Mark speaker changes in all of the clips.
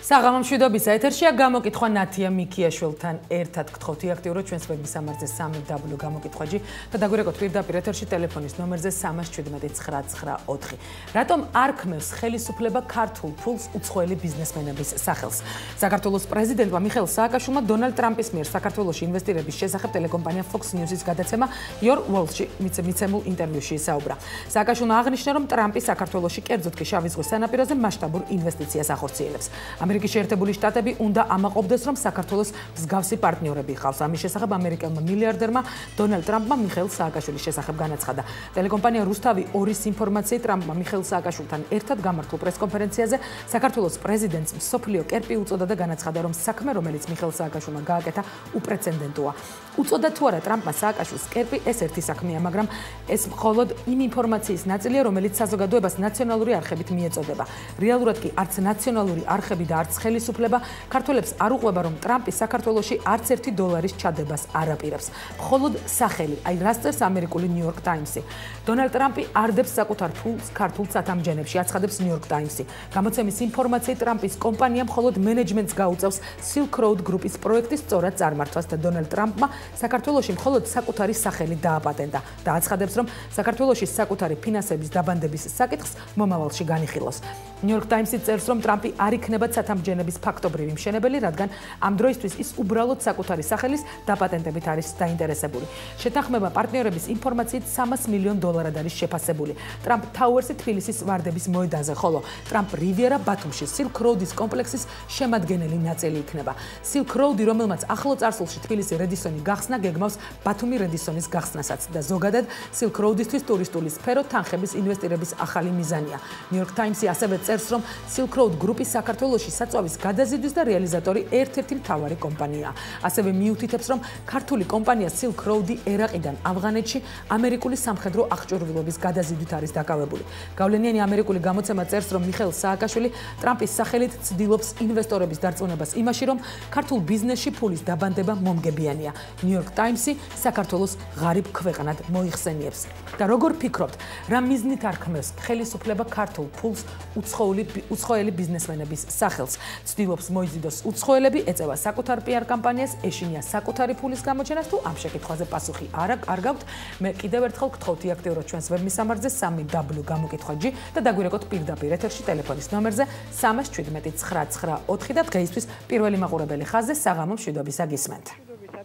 Speaker 1: საღამო მშვიდობის ეთერშია გამოკითხვა ნათია მიქიაშვილთან ერთად გთხოვთ აქტიუროთ ჩვენს ვებმისამართზე 3w გამოკითხვაჯი და დაგვირეკოთ პირდაპირ ეთერში ტელეფონის ნომერზე 317-994. რატომ არ ქმევს ხელისუფლება ქართულ ფულს უცხოელი ბიზნესმენების სახელს? საქართველოს პრეზიდენტმა მიხეილ სააკაშვილმა დონალდ ტრამპის მიერ საქართველოში ინვესტირების შესახებ ტელეკომპანია Fox News-ის გადაცემა Your World-ში მიცემულ ინტერვიუში ისაუბრა. სააკაშვილმა აღნიშნა, რომ ტრამპი საქართველოში კერძოდ კი შავი ზღვის სანაპიროზე მასშტაბურ ინვესტიციას ახორციელებს. ამერიკის შეერთებული შტატები უნდა ამაყობდეს, რომ საქართველოს მსგავსი პარტნიორები ჰყავს. ამის შესახებ ამერიკელმა მილიარდერმა დონალდ ტრამპმა მიხეილ სააკაშვილის შესახებ განაცხადა. ტელეკომპანია რუსთავი 2-ის ინფორმაციით ტრამპმა მიხეილ სააკაშვილთან ერთად გამართულ პრესკონფერენციაზე საქართველოს პრეზიდენტს მსოფლიო კერპი უწოდა და განაცხადა, რომ საქმე, რომელიც მიხეილ სააკაშვილმა გააკეთა, უპრეცედენტოა. უწოდა თუ არა ტრამპმა სააკაშვილს კერპი, ეს ერთი საქმეა, მაგრამ ეს მხოლოდ იმ ინფორმაციის ნაწილია, რომელიც საზოგადოებას ნაციონალური არხებით მიეწოდება. რეალურად კი არც ნაციონალური არხები და არც ხელისუფლება ქართველებს არ უყვება, რომ ტრამპი საქართველოში არც $1 ჩადებას არ აპირებს. მხოლოდ სახელი, აი რას წერს ამერიკული New York Times-ი. დონალდ ტრამპი არდებს საკუთარ ფულს ქართულ სათამჯენებში, აცხადებს New York Times-ი. გამოცემის ინფორმაციით ტრამპის კომპანია მხოლოდ მენეჯმენტს გაუწევს Silk Road გრუპის პროექტის სწორად წარმართვას და დონალდ ტრამპმა საქართველოში მხოლოდ საკუთარი სახელი დააპატენტა და აცხადებს, რომ საქართველოში საკუთარი ფინანსების დაბანდების საკითხს მომავალში განიხილავს. New York Times-ი წერს, რომ ტრამპი არ იქნება სათამჯენების ფაქტობრივი მშენებელი, რადგან ამ დროისთვის ის უბრალოდ საკუთარი სახელის დაპატენტებით არის დაინტერესებული. შეთანხმება პარტნიორების ინფორმაციით $300 მილიონ არის შეფასებული. ტრამპ თაუერსი თბილისის ვარდების მოედანზე, ხოლო ტრამპ რივიერა ბათუმში Silk Road-ის კომპლექსის შემადგენელი ნაწილი იქნება. Silk Road-ი, რომელმაც ახლო წარსულში თბილისი რედისონი გახსნა, გეგმავს ბათუმი რედისონის გახსნასაც და ზოგადად Silk Road-ისთვის ტურისტული სფერო თანხების ინვესტირების ახალი მიზანია. New York Times-ი ასევე წერს, რომ Silk Road გრუპი საქართველოში საწვავის გადაზიდვის და რეალიზატორი ერთ-ერთი მთავარი კომპანიაა. ასევე მიუთითებს, რომ ქართული კომპანია Silk Road-ი ერაყიდან ავღანეთში ამერიკული სამხედრო აღჭურვილობის გადაზიდვით არის დაკავებული. გავლენიანი ამერიკული გამოცემა წერს, რომ მიხეილ სააკაშვილი ტრამპის სახელით ცდილობს ინვესტორების დარწმუნებას იმაში, რომ ქართულ ბიზნესში ფულის დაბანდება მომგებიანია. New York Times-ი საქართველოს ღარიბ ქვეყნად მოიხსენიებს. და როგორ ფიქრობთ, რა მიზნით არ ქმევს ხელისუფლება ქართულ ფულს უცხოელი ბიზნესმენების სახელს? ცდილობს მოიზიდოს უცხოელები, ეწევა საკუთარ PR კამპანიას, ეშინია საკუთარი ფულის გამოჩენას, თუ ამ შეკითხვაზე პასუხი არ გაქვთ? მე კიდევ ერთხელ გთხოვთ აქტიუროთ ჩვენს ვებმისამართზე 3w გამოკითხვაჯი და დაგვირეკოთ პირდაპირ ეთერში ტელეფონის ნომერზე 317-994 და დღეისთვის პირველი მაყურებელი ხაზზე საღამო მშვიდობისა გისმენთ.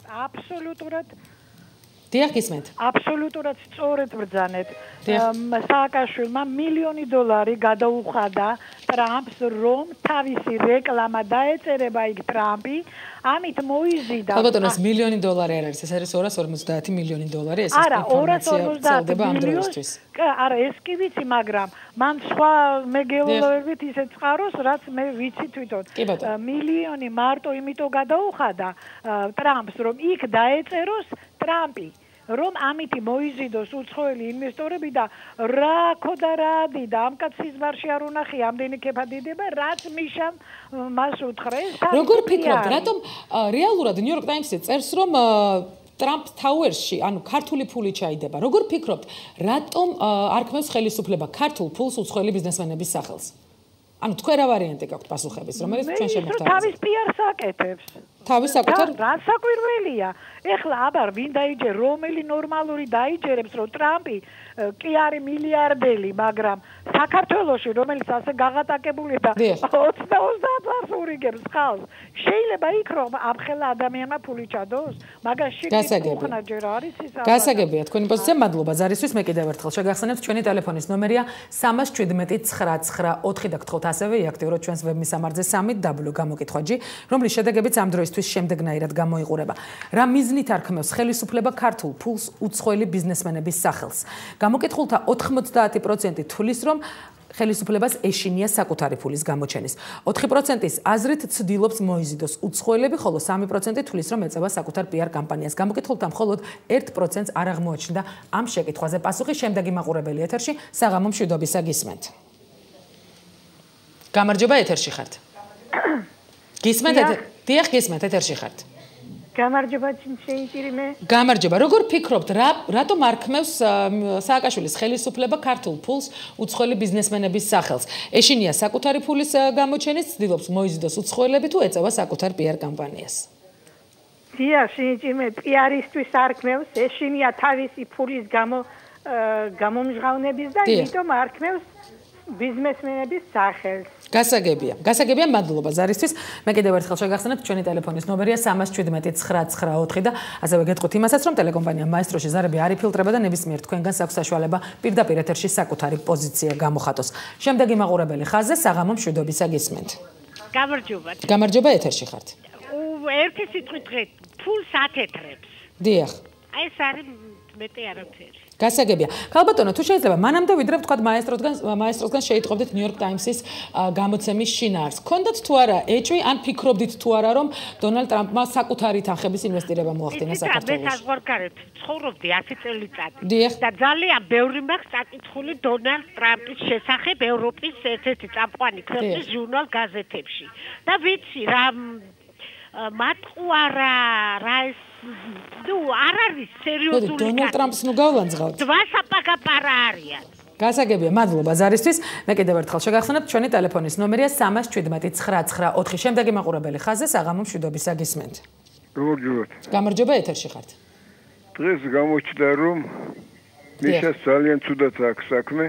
Speaker 2: აბსოლუტურად
Speaker 1: დიახ, გისმენთ.
Speaker 2: აბსოლუტურად სწორედ ბრძანეთ. სააკაშვილმა $1 მილიონი გადაუხადა ტრამპს, რომ თავისი რეკლამა დაეწერება იქ ტრამპი, ამით მოიზიდა.
Speaker 1: ალბათ $1 მილიონი არ არის, ეს არის $250 მილიონი, ეს ინფორმაცია წელდება ამ დროისთვის.
Speaker 2: არა, ეს კი ვიცი, მაგრამ მან სხვა მეგეულობით ისე წყაროს, რაც მე ვიცი თვითონ. $1 მილიონი მარტო იმიტომ გადაუხადა ტრამპს, რომ იქ დაეწეროს ტრამპი, რომ ამითი მოიზიდოს უცხოელი ინვესტორები და რა ქოდა რა დიდა ამ კაცის ბარში არ უნახი ამდენი ქეფადიდება, რაც მიშამ მას უთხრა.
Speaker 1: როგორ ფიქრობთ, რატომ რეალურად New York Times-ი წერს, რომ ტრამპ თაუერსში, ანუ ქართული ფული ჩაიდება. როგორ ფიქრობთ, რატომ არ ქმევს ხელისუფლება ქართულ ფულს უცხოელი ბიზნესმენების სახელს? ანუ თქვენ რა ვარიანტი გაქვთ პასუხების, რომელიც ჩვენ შემოგთავაზებთ?
Speaker 2: თავის PR-ს აკეთებს.
Speaker 1: თავის საკუთარ
Speaker 2: რა საკვირველია. ეხლა აბარ ვინ დაიჯერ, რომელი ნორმალური დაიჯერებს, რომ ტრამპი კი არის მილიარდელი, მაგრამ საქართველოში, რომელიც ასე გაღატაკებული და 20-30 ურიგებს ხალხს, შეიძლება იქ რომ ამხელა ადამიანმა ფული ჩადოს, მაგაში კითხვა ჯერ არის ის.
Speaker 1: გასაგებია თქვენი პოზიცია, მადლობა ზარისთვის. მე კიდევ ერთხელ შეგახსენებთ, ჩვენი ტელეფონის ნომერია 317-994 და გთხოვთ ასევე აქტიუროთ ჩვენს ვებმისამართზე 3w გამოკითხვაჯი, რომლის შედეგებიც ამ დროისთვის შემდეგნაირად გამოიყურება. რა მიზნით არ ქმევს ხელისუფლება ქართულ ფულს უცხოელი ბიზნესმენების სახელს? გამოკითხულთა 90% თვლის, რომ ხელისუფლებას ეშინია საკუთარი ფულის გამოჩენის. 4%-ის აზრით ცდილობს მოიზიდოს უცხოელები, ხოლო 3% თვლის, რომ ეწევა საკუთარ PR კამპანიას. გამოკითხულთა მხოლოდ 1%-ს არ აღმოაჩნდა ამ შეკითხვაზე პასუხი. შემდეგი მაყურებელი ეთერში საღამო მშვიდობისა გისმენთ. გამარჯობა, ეთერში ხართ. გისმენთ? დიახ, გისმენთ, ეთერში ხართ.
Speaker 2: გამარჯობა შეიჭირიმე.
Speaker 1: გამარჯობა. როგორ ფიქრობთ, რატომ არქმევს სააკაშვილის ხელისუფლება ქართულ ფულს უცხოელი ბიზნესმენების სახელს? ეშინია საკუთარი ფულის გამოჩენის, ცდილობს მოიზიდოს უცხოელები თუ ეწევა საკუთარ PR კამპანიას?
Speaker 2: დიახ, შეიჭირიმე, PR-ისთვის არქმევს, ეშინია თავისი ფულის გამომჟღავნების და იმიტომ არქმევს ბიზნესმენების სახელს. გასაგებია, მადლობა ზარისთვის. მე კიდევ ერთხელ შეგახსენებთ, ჩვენი ტელეფონის ნომერია 317 და ასევე გეტყვით იმასაც, რომ ტელეკომპანია მაესტროში ზარები არ იფილტრება და ნებისმიერ თქვენგანს აქვს საშუალება პირდაპირ ეთერში საკუთარი პოზიცია გამოხატოს. შემდეგი მაყურებელი ხაზზე საღამო მშვიდობისა გისმენთ. გამარჯობა, ეთერში ხართ.
Speaker 3: ერთი სიტყვით დღეს ფულს ათეთრებს.
Speaker 1: დიახ.
Speaker 3: აი ეს არის მეტი არაფერი.
Speaker 1: გასაგებია. ქალბატონო, თუ შეიძლება მანამდე ვიდრე ვთქვათ მაესტროსგან შეიტყობდით New York Times-ის გამოცემის შინაარს. გქონდათ თუ არა ეჭვი, ან ფიქრობდით თუ არა, რომ დონალდ ტრამპმა საკუთარი თანხების ინვესტირება მოახდინა საქართველოში?
Speaker 3: მე საზღვარგარეთ ცხოვრობდი 10 წელიწადი.
Speaker 1: დიახ.
Speaker 3: და ძალიან ბევრი მაქვს წაკითხული დონალდ ტრამპის შესახებ ევროპის ერთ-ერთი წამყვანი ქვეყნის ჟურნალ გაზეთებში. და ვიცი რა მატყუარა რა ეს არ არის სერიოზული.
Speaker 1: დონალდ ტრამპს ნუ გავლანძღავთ.
Speaker 3: ვასაპაკაპარა არიან.
Speaker 1: გასაგებია, მადლობა ზარისთვის. მე კიდევ ერთხელ შეგახსენებთ, ჩვენი ტელეფონის ნომერია 317 შემდეგი მაყურებელი ხაზზე საღამო მშვიდობისა გისმენთ. გამარჯობა, ეთერში ხართ.
Speaker 4: დღეს გამოჩნდა, რომ მიშას ძალიან ცუდად აქვს საქმე.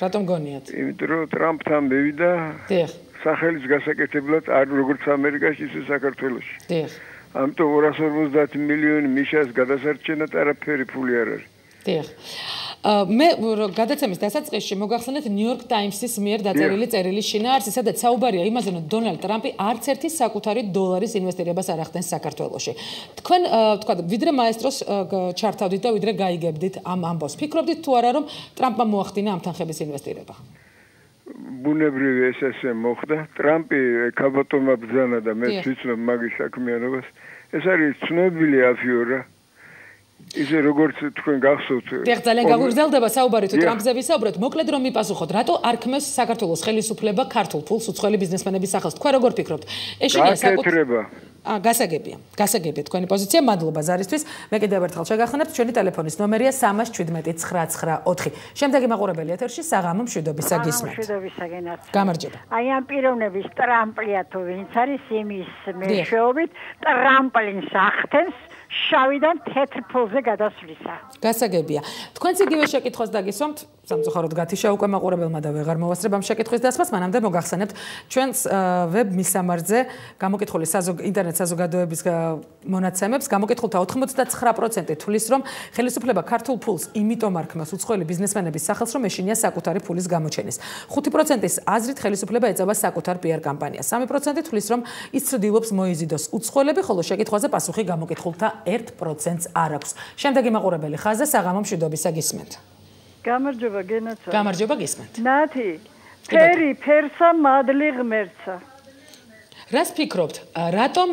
Speaker 1: რატომ გონიათ?
Speaker 4: იმიტომ რომ ტრამპთან მივიდა.
Speaker 1: დიახ.
Speaker 4: სახელის გასაკეთებლად არ როგორც ამერიკაში, ისე საქართველოში.
Speaker 1: დიახ.
Speaker 4: ამიტომ 250 მილიონი მიშას გადასარჩენად არაფერი ფული არ არის.
Speaker 1: დიახ. მე გადაცემის დასაწყისში მოგახსენეთ New York Times-ის მიერ დაწერილი წერილის შინაარსი, სადაც საუბარია იმაზე, რომ დონალდ ტრამპი არც ერთი საკუთარი დოლარის ინვესტირებას არ ახდენს საქართველოში. თქვენ თქვა, ვიდრე მაესტროს ჩართავდით და ვიდრე გაიგებდით ამ ამბავს. ფიქრობდით თუ არა, რომ ტრამპმა მოახდინა ამ თანხების ინვესტირება?
Speaker 4: ბუნებრივი ეს მოხდა. ტრამპი ქალბატონმა ბრძანა და მე ვიცნობ მაგის საქმიანობას. ეს არის ცნობილი აფიორა. ისე როგორც თქვენ გახსოვთ.
Speaker 1: დიახ, ძალიან გაგრძელდება საუბარი თუ ტრამპზე ვისაუბრეთ. მოკლედ რომ მიპასუხოთ, რატო არქმევს საქართველოს ხელისუფლება ქართულ ფულს უცხოელი ბიზნესმენების სახელს? თქვენ როგორ ფიქრობთ? ეშინია
Speaker 4: საკუთრება.
Speaker 1: გასაგებია თქვენი პოზიცია. მადლობა ზარისთვის. მე კიდევ ერთხელ შეგახსენებთ, ჩვენი ტელეფონის ნომერია 317 შემდეგი მაყურებელი ეთერში საღამო მშვიდობისა გისმენთ. გამარჯობა.
Speaker 2: აი ამ პიროვნების ტრამპლია თუ ვინც არის იმის მეშვეობით ტრამპლინს ახდენს შავიდან თეთრ ფულზე გადასვლისა.
Speaker 1: გასაგებია. თქვენც იგივე შეკითხვას დაგისვამთ, სამწუხაროდ გათიშა უკვე მაყურებელმა და ვეღარ მოვასწრებ ამ შეკითხვის დასმას, მანამდე მოგახსენებთ ჩვენს ვებ მისამართზე გამოკითხული ინტერნეტ საზოგადოების მონაცემებს. გამოკითხულთა 89% თვლის, რომ ხელისუფლება ქართულ ფულს იმიტომ არქმევს უცხოელი ბიზნესმენების სახელს, რომ ეშინია საკუთარი ფულის გამოჩენის. 5%-ის აზრით ხელისუფლება ეწევა საკუთარ PR კამპანიას. 3% თვლის, რომ ის ცდილობს მოიზიდოს უცხოელები, ხოლო შეკითხვაზე პასუხი გამოკითხულთა 1%-ს არ აქვს. შემდეგი მაყურებელი ხაზზე საღამო მშვიდობისა გისმენთ.
Speaker 2: გამარჯობა გენაცა.
Speaker 1: გამარჯობა გისმენთ.
Speaker 2: ნათი, ფერი ფერსა მადლი ღმერთსა.
Speaker 1: რას ფიქრობთ? რატომ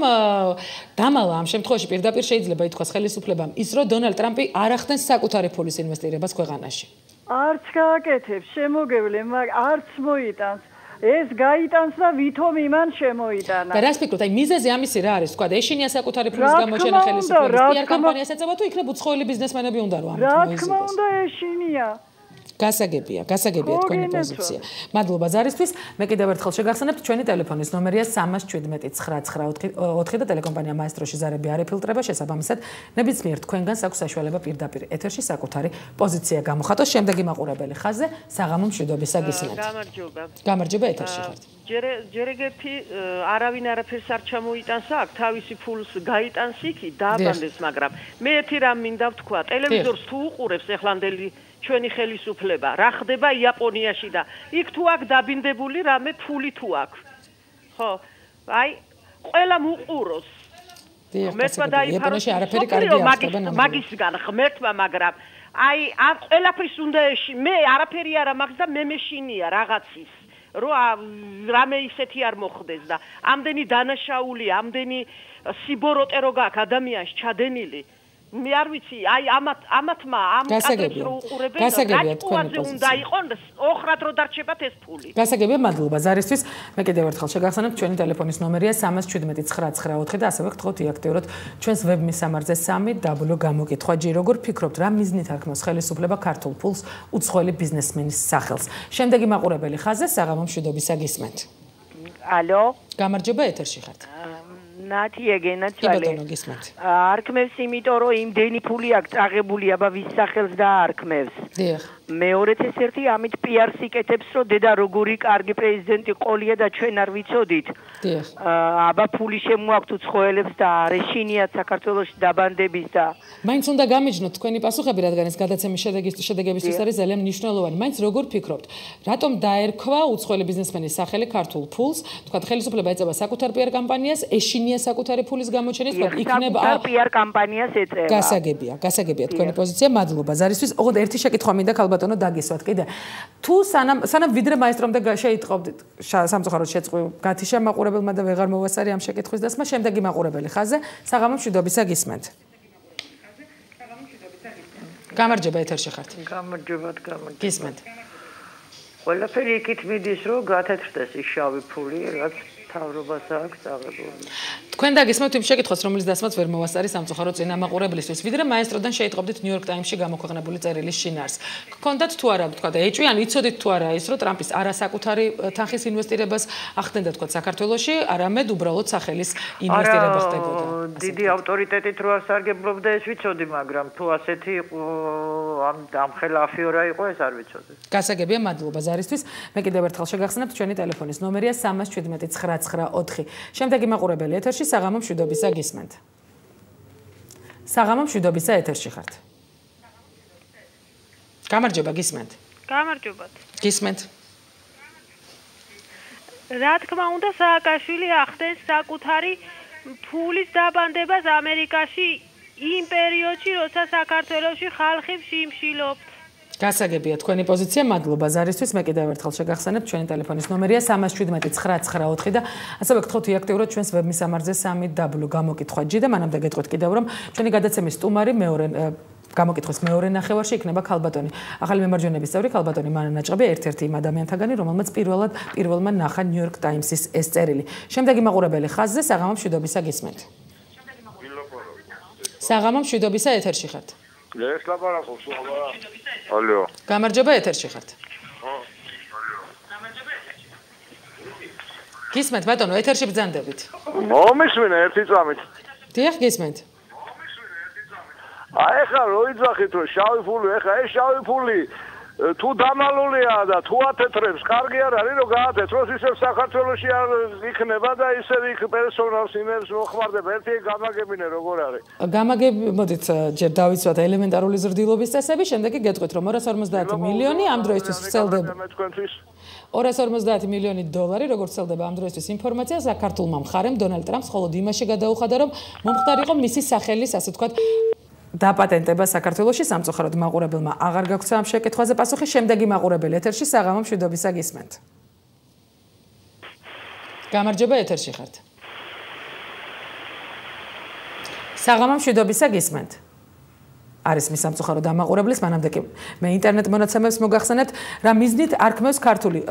Speaker 1: დამალა ამ შემთხვევაში პირდაპირ შეიძლება ითქვას ხელისუფლებამ ის, რომ დონალდ ტრამპი არ ახდენს საკუთარი ფულის ინვესტირებას ქვეყანაში?
Speaker 2: არც გააკეთებს, შემოგევლე, არც მოიტანს. ეს გაიტანს და ვითომ იმან შემოიტანა.
Speaker 1: და რას ფიქრობთ? აი მიზეზი ამისი რა არის? თქვა, ეშინია საკუთარი ფულის გამოჩენა ხელისუფლების PR კამპანიას ეწევა თუ იქნებ უცხოელი ბიზნესმენები უნდა რომ ამით მოიზიდოს?
Speaker 2: რა თქმა უნდა ეშინია.
Speaker 1: გასაგებია თქვენი პოზიცია. მადლობა ზარისთვის. მე კიდევ ერთხელ შეგახსენებთ, ჩვენი ტელეფონის ნომერია 317 და ტელეკომპანია მაესტროში ზარები არ იფილტრება, შესაბამისად, ნებისმიერ თქვენგანს აქვს საშუალება პირდაპირ ეთერში საკუთარი პოზიცია გამოხატოს. შემდეგი მაყურებელი ხაზზე საღამო მშვიდობისა გისმენთ. გამარჯობა, ეთერში ხართ.
Speaker 5: ჯერ ეგეთი არავინ არაფერს არ ჩამოიტანს აქ, თავისი ფულს გაიტანს იქი, დააბანდეს, მაგრამ მე ერთი რამ მინდა ვთქვა, ტელევიზორს თუ უყურებს ეხლანდელი ჩვენი ხელისუფლება, რა ხდება იაპონიაში და იქ თუ აქ დაბინდებული რამე ფული თუ აქ. ხო, აი, ყველა უყუროს. მეთმა
Speaker 1: იაპონიაში არაფერი კარგი არ ხდება
Speaker 5: მაგისგან ღმერთმა, მაგრამ აი, ამ ყველაფრის უნდა მე არაფერი არ მაქვს და მე მეშინია რაღაცის. რამე ისეთი არ მოხდეს და ამდენი დანაშაული, ამდენი სიბოროტე რო გაქვს ადამიანს ჩადენილი. მე არ ვიცი, აი ამათმა ამ კადრებს რო უყურებენ, რატყუაზე უნდა იყო ოხრად რო დარჩებათ ეს ფული.
Speaker 1: გასაგებია, მადლობა ზარისთვის. მე კიდევ ერთხელ შეგახსენებთ, ჩვენი ტელეფონის ნომერია 317 994 და ასევე გთხოვთ იაქტიუროთ ჩვენს ვებ მისამართზე 3w გამოკითხვა-G. როგორ ფიქრობთ, რა მიზნით არქმევს ხელისუფლება ქართულ ფულს უცხოელი ბიზნესმენის სახელს? შემდეგი მაყურებელი ხაზზე საღამო მშვიდობისა გისმენთ.
Speaker 6: ალო,
Speaker 1: გამარჯობა, ეთერში ხართ.
Speaker 6: ნათია გენაცვალე. არქმევს იმიტომ რომ იმდენი ფული აქვს წაღებული, აბა ვის სახელს დაარქმევს.
Speaker 1: დიახ. მეორეც
Speaker 6: ეს ერთი ამით პიარს იკეთებს, რომ დედა როგორი კარგი პრეზიდენტი ყოლია და ჩვენ არ ვიცოდით.
Speaker 1: დიახ.
Speaker 6: აბა ფული შემოაქვთ უცხოელებს და რეშინიათ საქართველოში დაბანდების და
Speaker 1: მაინც უნდა გამიჯნოთ თქვენი პასუხები, რადგან ეს გადაცემის შედეგებისთვის არის ძალიან მნიშვნელოვანი. მაინც როგორ ფიქრობთ, რატომ დაერქვა უცხოელი ბიზნესმენის სახელი ქართულ ფულს? თქვა ხელისუფლება ეწევა საკუთარ პიარ კამპანიას, ეშინია საკუთარი ფულის გამოჩენის, თქვა იქნება
Speaker 6: პიარ კამპანიას ეწევა.
Speaker 1: გასაგებია თქვენი პოზიცია, მადლობა ზარისთვის. ოღონდ ერთი შეკითხვა მინდა ქალბატონო დაგისვათ კიდე. თუ სანამ ვიდრე მაესტრომდე შეიტყობდით სამწუხაროდ შეწყვი გათიშა მაყურებელმა და ვეღარ მოვასწარი ამ შეკითხვის დასმა, შემდეგი მაყურებელი ხაზზე საღამო მშვიდობისა გისმენთ. გამარჯობა, ეთერში ხართ.
Speaker 7: გამარჯობა.
Speaker 1: გისმენთ.
Speaker 7: ყველაფერი იქით მიდის, რომ გათეთრდეს ის შავი ფული, რაც თავრობას აქვს აღებული.
Speaker 1: თქვენ დაგისმევთ იმ შეკითხვას, რომელიც დასმაც ვერ მოვასწარი სამწუხაროდ წინა მაყურებლისთვის. ვიდრე მაესტროდან შეიტყობდით New York Times-ში გამოქვეყნებული წერილის შინაარს. გქონდათ თუ არა, თქვა და ეჭვი, ან იცოდით თუ არა ის, რომ ტრამპის არასაკუთარი თანხის ინვესტირებას ახდენდა თქვა საქართველოში, არამედ უბრალოდ სახელის ინვესტირება ხდებოდა.
Speaker 7: დიდი ავტორიტეტით რო არ სარგებლობდა ეს ვიცოდი, მაგრამ თუ ასეთი იყო ამ ხელა აფიორა იყო, ეს არ ვიცოდი.
Speaker 1: გასაგებია, მადლობა ზარისთვის. მე კიდევ ერთხელ შეგახსენებთ, ჩვენი ტელეფონის ნომერია 317 994. შემდეგი მაყურებელი ეთერში საღამო მშვიდობისა გისმენთ. საღამო მშვიდობისა ეთერში ხართ. გამარჯობა, გისმენთ.
Speaker 8: გამარჯობათ.
Speaker 1: გისმენთ.
Speaker 8: რა თქმა უნდა, სააკაშვილი ახდენს საკუთარი ფულის დაბანდებას ამერიკაში იმ პერიოდში, როცა საქართველოში ხალხი შიმშილობთ.
Speaker 1: გასაგებია თქვენი პოზიცია, მადლობა ზარისთვის. მე კიდევ ერთხელ შეგახსენებთ, ჩვენი ტელეფონის ნომერია 317 994 და ასევე გთხოვთ იაქტიუროთ ჩვენს ვებ მისამართზე 3w გამოკითხვა-G და მანამდე გეტყვით კიდევ რომ ჩვენი გადაცემის სტუმარი გამოკითხვის მეორე ნახევარში იქნება ქალბატონი. ახალი მემარჯვენეების წევრი ქალბატონი მანა ნაჭყები, ერთ-ერთი იმ ადამიანთაგანი, რომელმაც პირველმა ნახა New York Times-ის ეს წერილი. შემდეგი მაყურებელი ხაზზე საღამო მშვიდობისა გისმენთ. საღამო მშვიდობისა ეთერში ხართ.
Speaker 4: ეს ლაპარაკობს, ალო.
Speaker 1: გამარჯობა, ეთერში ხართ. გისმენთ ბატონო, ეთერში ბრძანდებით.
Speaker 4: მომისმინე ერთი წამით.
Speaker 1: დიახ, გისმენთ.
Speaker 4: აი ხა რო იძახით რომ შავი ფული, ეხა ეს შავი ფული თუ დამალულია და თუ ათეთრებს, კარგი არ არის რომ გაათეთროს, ისევ საქართველოში არ იქნება და ისევ იქ პერსონალს იმებს მოხმარდება. ერთი გამაგებინე როგორ არის.
Speaker 1: მოდით ჯერ დავიცვათ ელემენტარული ზრდილობის წესები, შემდეგ გეტყვით რომ 250 მილიონი ამ დროისთვის ვრცელდება. 250 მილიონი დოლარი, როგორც ვრცელდება ამ დროისთვის ინფორმაცია, საქართველოს მხარემ დონალდ ტრამპს მხოლოდ იმაში გადაუხადა, რომ მომხდარიყო მისი სახელის, ასე ვთქვათ, დაპატენტება საქართველოში. სამწუხაროდ მაყურებელმა აღარ გაგვცა ამ შეკითხვაზე პასუხი. შემდეგი მაყურებელი ეთერში საღამო მშვიდობისა გისმენთ. გამარჯობა, ეთერში ხართ. საღამო მშვიდობისა გისმენთ. არის მის სამწუხაროდ ამაყურებლის, მანამდე კი მე ინტერნეტ მონაცემებს მოგახსენებთ, რა მიზნით არქმევს ქართული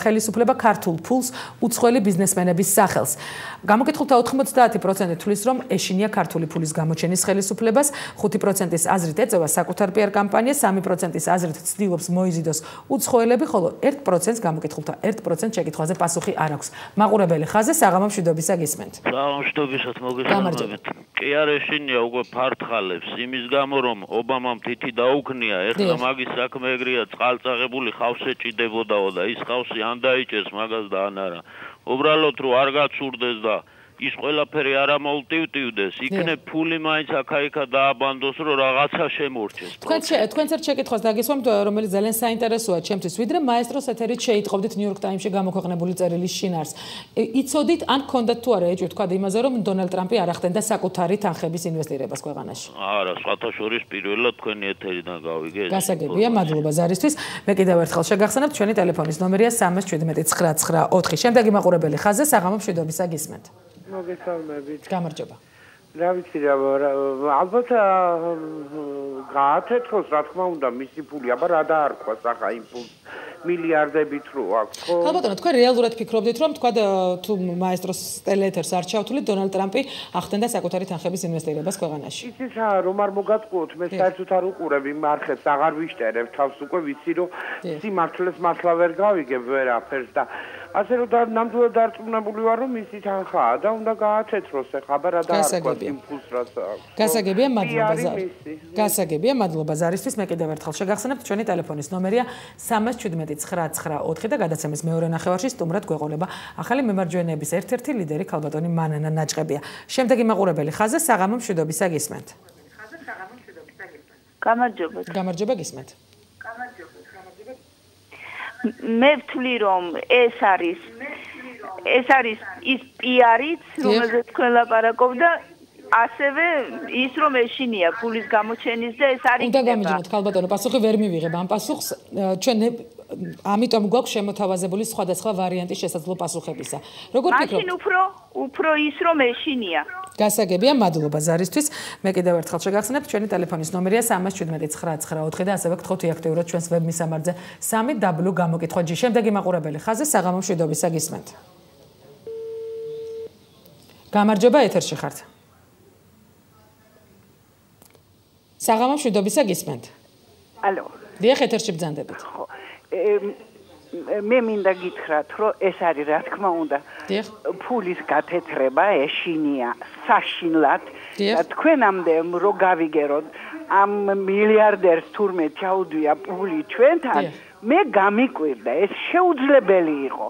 Speaker 1: ხელისუფლება ქართულ ფულს უცხოელი ბიზნესმენების სახელს. გამოკითხულთა 90% თვლის, რომ ეშინია ქართული ფულის გამოჩენის ხელისუფლებას, 5%-ის აზრით ეწევა საკუთარ პიარ კამპანიას, 3%-ის აზრით ცდილობს მოიზიდოს უცხოელები, ხოლო 1%-ს გამოკითხულთა 1% შეკითხვაზე პასუხი არ აქვს. მაყურებელი ხაზზე საღამო მშვიდობისა გისმენთ.
Speaker 9: საღამო მშვიდობისat მოგესალმებით. კი არ ეშინია უკვე ფართხალებს იმის გამო რომ ობამამ თითი დაუქნია, ეხლა მაგის საქმე ეგრეა, წყალწაღებული ხავს ეჭიდებოდაო და ის ხავსი ან დაიჭერს მაგას და ან არა. უბრალოდ რომ არ გაცურდეს და ის ყველაფერი არ ამოუტივტივდეს, იქნებ ფული მაინც აქა-იქა დააბანდოს, რომ რაღაცა შემორჩეს.
Speaker 1: თქვენც ერთ შეკითხვას დაგისვამთ, რომელიც ძალიან საინტერესოა ჩემთვის, ვიდრე მაესტროს ეთერით შეიტყობდით New York Times-ში გამოქვეყნებული წერილის შინაარს. იცოდით ან გქონდათ თუ არა ეჭვი თქვა იმაზე, რომ დონალდ ტრამპი არ ახდენდა საკუთარი თანხების ინვესტირებას ქვეყანაში?
Speaker 9: არა, სხვათა შორის პირველად თქვენი ეთერიდან გავიგე.
Speaker 1: გასაგებია, მადლობა ზარისთვის. მე კიდევ ერთხელ შეგახსენებთ, ჩვენი ტელეფონის ნომერია 317 994. შემდეგი მაყურებელი ხაზზე საღამო მშვიდობისა გისმენთ.
Speaker 7: მოგესალმებით.
Speaker 1: გამარჯობა.
Speaker 10: რა ვიცი რა ალბათ გაათეთროს რა თქმა უნდა მისი ფული აბა რა დაარქვას ახლა იმ ფულს მილიარდებით რო აქვს ხო
Speaker 1: ალბათ თქვენ რეალურად ფიქრობდით რომ თქვა თუ მაესტროს ტელეეთერს არ ჩავთვლით დონალდ ტრამპი ახდენდა საკუთარი თანხების ინვესტირებას ქვეყანაში
Speaker 10: იცით რა რომ არ მოგატყუოთ მე საერთოდ არ უყურებ იმ არხებს აღარ ვიშტერებ თავს უკვე ვიცი რომ სიმართლეს მართლა ვერ გავიგებ ვერაფერს და ასე რომ ნამდვილად დარწმუნებული ვარ რომ მისი თანხაა და უნდა გაათეთროს ეხლა აბა რა დაარქვას იმ ფულს რაც აქვს
Speaker 1: გასაგებია მადლობა გასაგებია მადლობა ზარისთვის მე კიდევ ერთხელ შეგახსენებთ ჩვენი ტელეფონის ნომერია 37994 და გადაცემის მეორე ნახევარში სტუმრად გვეყოლება ახალი მემარჯვენეების ერთ-ერთი ლიდერი ქალბატონი მანანა ნაჭყებია შემდეგი მაყურებელი ხაზზე საღამო მშვიდობისა გისმენთ გამარჯობა გისმენთ
Speaker 6: მე ვთვლი რომ ეს არის ის პიარიც რომელზეც თქვენ ლაპარაკობდა ასევე ის რომ ეშინია ფულის გამოჩენის და ეს არის
Speaker 1: უნდა გამიჯნოთ ქალბატონო პასუხი ვერ მივიღებ ამ პასუხს ჩვენ ამიტომ გვაქვს შემოთავაზებული სხვადასხვა ვარიანტის შესაძლო პასუხებისა როგორ ფიქრობთ
Speaker 6: მაშინ უფრო ის რომ ეშინია
Speaker 1: გასაგებია მადლობა ზარისთვის მე კიდევ ერთხელ შეგახსენებთ ჩვენი ტელეფონის ნომერია 37994 და ასევე გთხოვთ აქტიურად ჩვენს ვებ მისამართზე 3w გამოკითხვა G შემდეგი მაყურებელი ხაზზე საღამო მშვიდობისა გისმენთ გამარჯობა ეთერში ხართ საღამო მშვიდობისა გისმენთ
Speaker 6: ალო
Speaker 1: დიახ ეთერში ბრძანდებით
Speaker 6: ხო მე მინდა გითხრათ რომ ეს არის რა თქმა უნდა ფულის გათეთრება ეშინია საშინლად და თქვენამდე რო გავიგეროთ ამ მილიარდერს თურმე ჩაუდვია ფული ჩვენთან მე გამიკვირდა ეს შეუძლებელი იყო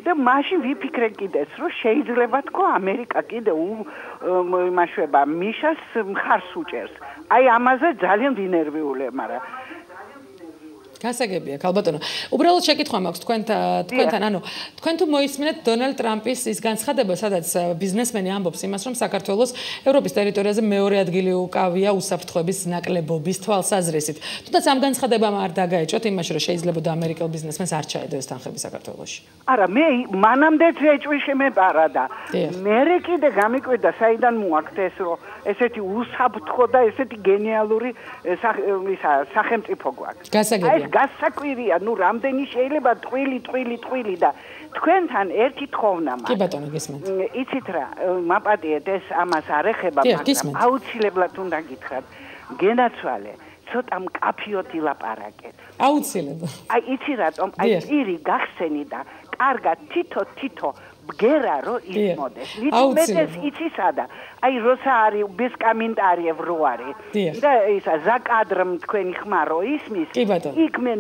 Speaker 6: და მაშინ ვიფიქრე კიდეც რომ შეიძლება თქო ამერიკა კიდე იმაშვება მიშას მხარს უჭერს აი ამაზე ძალიან დინერვიულია მაგრამ
Speaker 1: გასაგებია ქალბატონო უბრალოდ შეკითხვა მაქვს თქვენთან ანუ თქვენ თუ მოისმინეთ დონალდ ტრამპის ის განცხადება სადაც ბიზნესმენი ამბობს იმას რომ საქართველოს ევროპის ტერიტორიაზე მეორე ადგილი უკავია უსაფრთხოების ნაკლებობის თვალსაზრისით თუნდაც ამ განცხადებამ არ დაგაეჭოთ იმაში რომ შეიძლება ამერიკელ ბიზნესმენს არ ჩაედო ეს თანხები საქართველოში
Speaker 6: არა მე მანამდეც ეჭვი შემეპარა და მე კიდე გამიკვირდა საიდან მოაქვს ეს რომ ესეთი უსაფრთხო და ესეთი გენიალური სახელმწიფო გვაქვს
Speaker 1: გასაგებია
Speaker 6: გასაკვირია, ნუ რამდენი შეიძლება ტყვილი და თქვენთან ერთი თხოვნა მაქვს.
Speaker 1: კი ბატონო, გისმენთ.
Speaker 6: იცით რა, მაპატიეთ ეს ამას არ ეხება, მაგრამ აუცილებლად უნდა გითხრათ. გენაცვალე, ცოტა მკაფიოდ ილაპარაკეთ.
Speaker 1: აუცილებლად.
Speaker 6: აი იცი რატომ? აი პირი გახსენი და კარგად თითო ბგერა რო ისმოდეს. მითუმეტეს იცი სადა? აი როცა არის без комментариев რო არის. და ისა ზაკადრმ თქვენი ხმა რო ისმის. იქ მე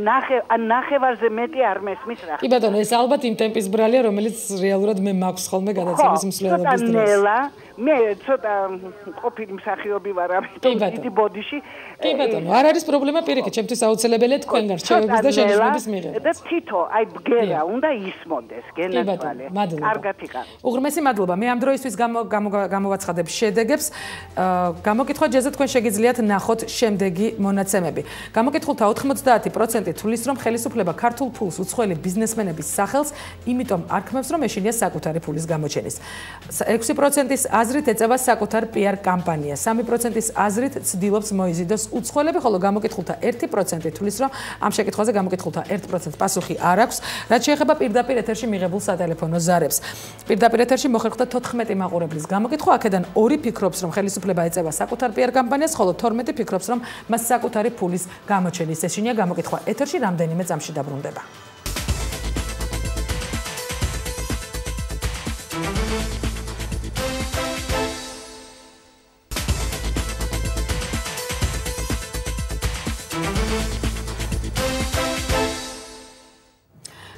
Speaker 6: ნახევარზე მეტი არ მესმის რა.
Speaker 1: კი ბატონო, ეს ალბათ იმ ტემპის ბრალია, რომელიც რეალურად მე მაქვს ხოლმე გადაცემის მსვლელობის დროს.
Speaker 6: მე ცოტა ყოფილი მსახიობი ვარ ამიტომ დიდი ბოდიში.
Speaker 1: კი ბატონო, არ არის პრობლემა პირიქით, ჩემთვის აუცილებელია თქვენ გარჩევების და შეჯიბრების მიღება.
Speaker 6: და თითო აი ბგერა უნდა ისმოდეს გენაცვალე. კარგად იყავ.
Speaker 1: უღრმესი მადლობა. მე ამ დროისთვის გამოვაცხადებ შედეგებს. გამოკითხვა ჯერზე თქვენ შეგიძლიათ ნახოთ შემდეგი მონაცემები. გამოკითხულთა 90% თვლის რომ ხელისუფლება ქართულ ფულს უცხოელი ბიზნესმენების სახელს, იმიტომ არქმევს რომ ეშინია საკუთარი ფულის გამოჩენის. 6%-ის აზრით ეწევა საკუთარ PR კამპანიას. 3%-ის აზრით ცდილობს მოიზიდოს უცხოელები, ხოლო გამოკითხულთა 1% თვლის რომ ამ შეკითხვაზე გამოკითხულთა 1% პასუხი არ აქვს, რაც შეეხება პირდაპირ ეთერში მიღებულ სატელეფონო ზარებს. პირდაპირ ეთერში მოხერხდა 14 მაყურებლის გამოკითხვა, აქედან 2 ფიქრობს რომ ხელისუფლება ეწევა საკუთარ PR კამპანიას, ხოლო 12 ფიქრობს რომ მას საკუთარი ფულის გამოჩენის ეშინია. გამოკითხვა ეთერში რამდენიმე წამში დაბრუნდება.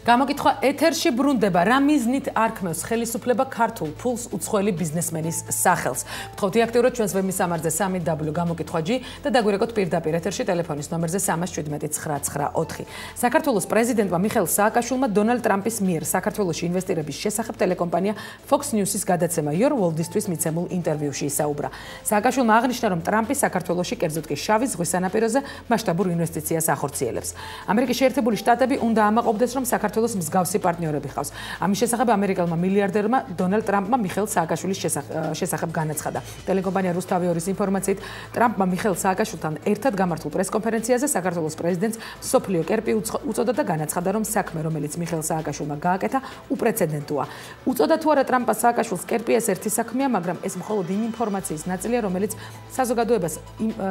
Speaker 1: გამოკითხვა ეთერში ბრუნდება. რა მიზნით არქმევს ხელისუფლება ქართულ ფულს უცხოელი ბიზნესმენის სახელს? გთხოვთ აქტიურად ჩვენს ვებ მისამართზე 3w გამოკითხვა G და დაგვირეკოთ პირდაპირ ეთერში ტელეფონის ნომერზე 317-994. საქართველოს პრეზიდენტმა მიხეილ სააკაშვილმა დონალდ ტრამპის მიერ საქართველოში ინვესტირების შესახებ ტელეკომპანია Fox News-ის გადაცემა Your World-ისთვის მიცემულ ინტერვიუში ისაუბრა. სააკაშვილმა აღნიშნა, რომ ტრამპი საქართველოში, კერძოდ კი შავი ზღვის სანაპიროზე მასშტაბურ ინვესტიციას ახორციელებს. ამერიკის შეერთებული შტატები უნდა ამაყობდეს, რომ საქართველოს საქართველოს მსგავსი პარტნიორები ხავს. ამის შესახებ ამერიკელმა მილიარდერმა დონალდ ტრამპმა მიხეილ სააკაშვილის შესახებ განაცხადა. ტელეკომპანია რუსთავიორის ინფორმაციით, ტრამპმა მიხეილ სააკაშვილთან ერთად გამართულ პრესკონფერენციაზე საქართველოს პრეზიდენტს მსოფლიო კერპი უწოდა და განაცხადა, რომ საქმე, რომელიც მიხეილ სააკაშვილმა გააკეთა, უპრეცედენტოა. უწოდა თუ არა ტრამპმა სააკაშვილს კერპი, ეს ერთი საქმეა, მაგრამ ეს მხოლოდ იმ ინფორმაციის ნაწილია, რომელიც საზოგადოებას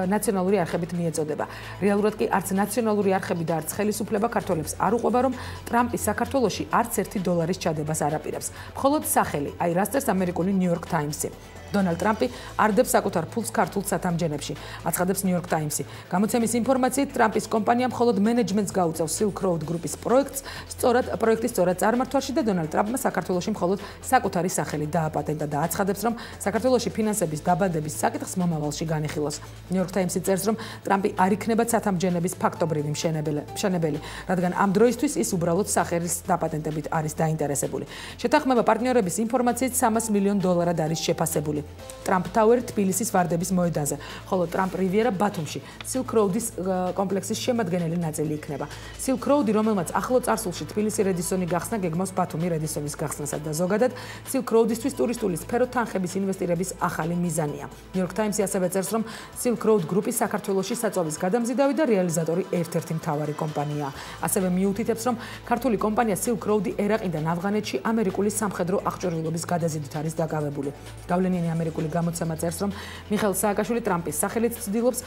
Speaker 1: ნაციონალური არხებით მიეწოდება. რეალურად კი არც ნაციონალური არხები და არც ხელისუფლება ქართველებს არ უყვება, რომ ტრამპი საქართველოში არც $1 ჩადებას არ აპირებს. მხოლოდ სახელი, აი რას წერს ამერიკული New York Times-ი. დონალდ ტრამპი არდებს საკუთარ ფულს ქართულ სათამჯენებში, აცხადებს New York Times-ი. გამოცემის ინფორმაციით, ტრამპის კომპანია მხოლოდ მენეჯმენტს გაუწევს Silk Road გრუპის პროექტის სწორად წარმართვაში და დონალდ ტრამპმა საქართველოში მხოლოდ საკუთარი სახელი დააპატენტა და აცხადებს, რომ საქართველოში ფინანსების დაბადების საკითხს მომავალში განიხილოს. New York Times-ი წერს, რომ ტრამპი არ იქნება სათამჯენების ფაქტობრივი მშენებელი, რადგან ამ დროისთვის ის უბრალოდ სახელის დაპატენტებით არის დაინტერესებული. შეთანხმება პარტნიორების ინფორმაციით $300 მილიონ არის შეფასებული. ტრამპ ტაუერი თბილისის ვარდების მოედანზე, ხოლო ტრამპ რივიერა ბათუმში, Silk Road-ის კომპლექსის შემადგენელი ნაწილი იქნება. Silk Road-ი, რომელმაც ახლო წარსულში თბილისი რედისონი გახსნა, გეგმავს ბათუმი რედისონის გახსნასა და ზოგადად Silk Road-ისთვის ტურისტული სფერო თანხების ინვესტირების ახალი მიზანია. New York Times-ი ასევე წერს, რომ Silk Road გრუპი საქართველოში საწვავის გადამზიდავი და რეალიზატორი ერთ-ერთი მთავარი კომპანიაა. ასევე მიუთითებს, რომ ქართული კომპანია Silk Road-ი ერაყიდან ავღანეთში ამერიკული სამხედრო აღჭურვილობის გადაზიდვით არის დაკავებული. გავლენიანი ამერიკული გამოცემა წერს, რომ მიხეილ სააკაშვილი ტრამპის სახელით ცდილობს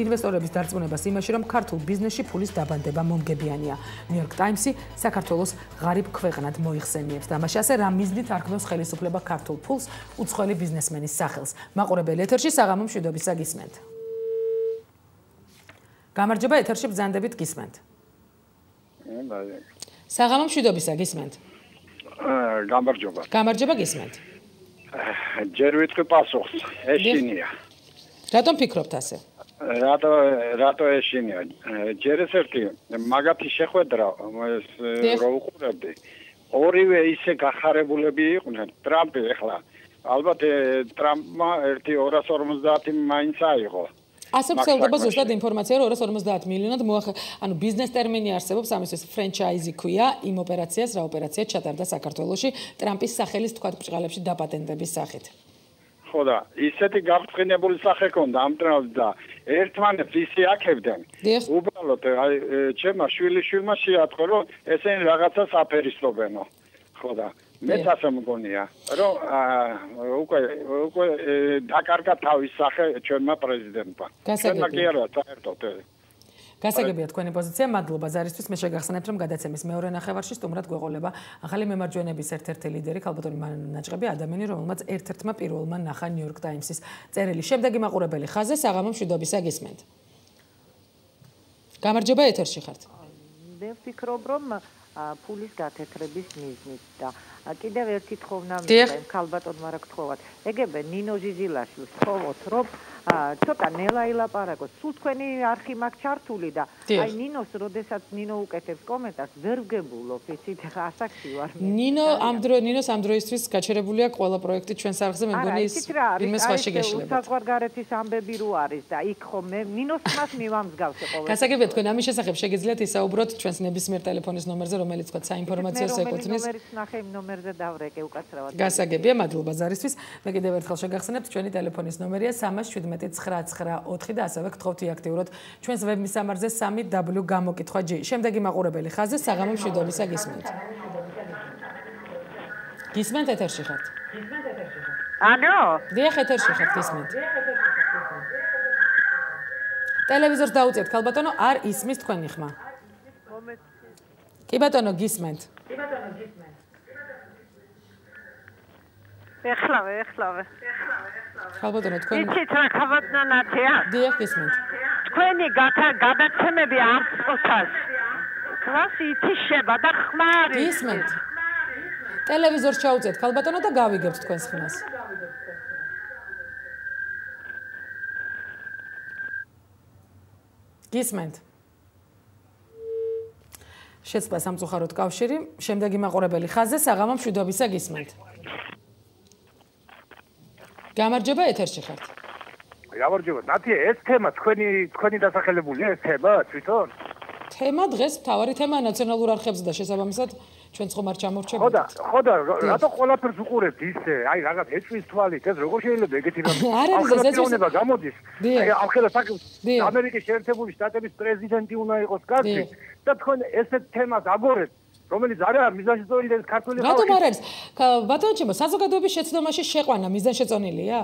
Speaker 1: ინვესტორების დარწმუნებას იმაში, რომ ქართულ ბიზნესში ფულის დაბანდება მომგებიანია. New York Times-ი საქართველოს ღარიბ ქვეყნად მოიხსენიებს და ამაში ასე რა მიზნით არქმევს ხელისუფლება ქართულ ფულს უცხოელი ბიზნესმენის სახელს. მაყურებელი ეთერში საღამო მშვიდობისა გისმენთ. გამარჯობა, ეთერში ბრძანდებით გისმენთ. საღამო მშვიდობისა გისმენთ.
Speaker 11: გამარჯობა.
Speaker 1: გამარჯობა გისმენთ.
Speaker 11: ჯერ ვიტყვი პასუხს, ეშინია.
Speaker 1: რატომ ფიქრობთ ასე?
Speaker 11: რატო ეშინია? ჯერ ეს ერთი მაგათი შეხვედრა რო უყურებდი. ორივე ისე გახარებულები იყვნენ. ტრამპი ახლა ალბათ ტრამპმა 250 მაინც აიღო.
Speaker 1: ასე ვრცელდება ზუსტად ინფორმაცია, რომ 250 მილიონად ანუ ბიზნეს ტერმინი არსებობს, ამისთვის ფრენჩაიზი ქვია იმ ოპერაციას, რა ოპერაცია ჩატარდა საქართველოში ტრამპის სახელის თქვათ ბრჭყალებში დაპატენტების სახით.
Speaker 11: ხო და ისეთი გაბრწყინებული სახე ქონდა ამ ტრამპს და ერთმანეთს ისე აქებდნენ. უბრალოდ აი ჩემმა შვილიშვილმა შეატყო, რომ ესენი რაღაცას აფერისტობენო. ხო და მეც ასე მგონია, რომ უკვე დაკარგა თავის სახე ჩვენმა პრეზიდენტმა. ჩვენმა კი არა, საერთოდ.
Speaker 1: გასაგებია თქვენი პოზიცია, მადლობა ზარისთვის. მე შეგახსენებთ, რომ გადაცემის მეორე ნახევარში სტუმრად გვეყოლება ახალი მემარჯვენების ერთ-ერთი ლიდერი, ქალბატონი მანაჭყები, ადამიანი, რომელმაც ერთ-ერთმა პირველმა ნახა New York Times-ის წერილი. შემდეგი მაყურებელი ხაზზე საღამო მშვიდობისა გისმენთ. გამარჯობა, ეთერში ხართ.
Speaker 12: მე ვფიქრობ, რომ ფულის გათეთრების მიზნით და კიდევ ერთი თხოვნა მინდა ქალბატონმა რა გთხოვათ. ეგებე ნინო ზიზილაშვილს თხოვოთ, რომ ცოტა ნელა ილაპარაკოს. სულ თქვენი არხი მაქვს ჩართული და აი ნინოს, როდესაც ნინო უკეთებს კომენტარს, ვერ ვგებულობ, იცით, ხა ასაკში ვარ მე.
Speaker 1: ნინოს ამ დროისთვის გაჩერებულია ყველა პროექტი ჩვენს არხზე, მე მგონი ის ვინმე სხვაში გეშლებათ.
Speaker 12: საზღვარგარეთის ამბები რო არის და იქ ხომ ნინოს მას მივამსგავსე ყოველთვის.
Speaker 1: გასაგებია თქვენ ამის შესახებ შეგიძლიათ ისაუბროთ ჩვენს ნებისმიერ ტელეფონის ნომერზე, რომელიც თქვა საინფორმაციო ეკუთვნის.
Speaker 12: ნომერის ნახე იმ ნომერზე დავრეკე უკაცრავად.
Speaker 1: გასაგებია, მადლობა ზარისთვის. მე კიდევ ერთხელ შეგახსენებთ, ჩვენი ტელეფონის ნომერია 317-994 და ასევე გთხოვთ აქტიურად ჩვენს ვებ მისამართზე 3w გამოკითხვა-G. შემდეგი მაყურებელი ხაზზე საღამო მშვიდობისა გისმენთ. გისმენთ ეთერში ხართ?
Speaker 3: ალო?
Speaker 1: დიახ, ეთერში ხართ, გისმენთ. ტელევიზორს დაუწიეთ, ქალბატონო, არ ისმის თქვენი ხმა. კი ბატონო, გისმენთ.
Speaker 3: ეხლავე.
Speaker 1: ქალბატონო, თქვენ
Speaker 3: იცით რა ქალბატონათია?
Speaker 1: დიახ, გისმენთ.
Speaker 3: თქვენი გადაცემები არ წოთას. კლასი ითიშება და ხმა არის.
Speaker 1: გისმენთ. ტელევიზორს ჩაუწიეთ, ქალბატონო და გავიგებთ თქვენს ხმას. გისმენთ. შეცდა სამწუხაროდ კავშირი, შემდეგი მაყურებელი ხაზზე საღამო მშვიდობისა გისმენთ. გამარჯობა, ეთერში ხართ.
Speaker 13: გამარჯობა. ნათია, ეს თემა თქვენი დასახელებულია, ეს თემა თვითონ?
Speaker 1: თემა დღეს მთავარი თემაა ნაციონალურ არხებზე და შესაბამისად ჩვენც ხომ არ ჩამორჩებოდით.
Speaker 13: ხოდა რატო ყველაფერს უყურებთ ისე? აი რაღაც ეჭვის თვალით ეს როგორ შეიძლება ეგეთი რამე? ახლა გამოდის. აი ახლა ამერიკის შეერთებული შტატების პრეზიდენტი უნდა იყოს კაცი და თქვენ ესეთ თემას აგორეთ. რომელიც არა მიზანშეწონილი ეს ქართული ხალხი.
Speaker 1: რატომ არ არის? ბატონო ჩემო, საზოგადოების შეცდომაში შეყვანა მიზანშეწონილია?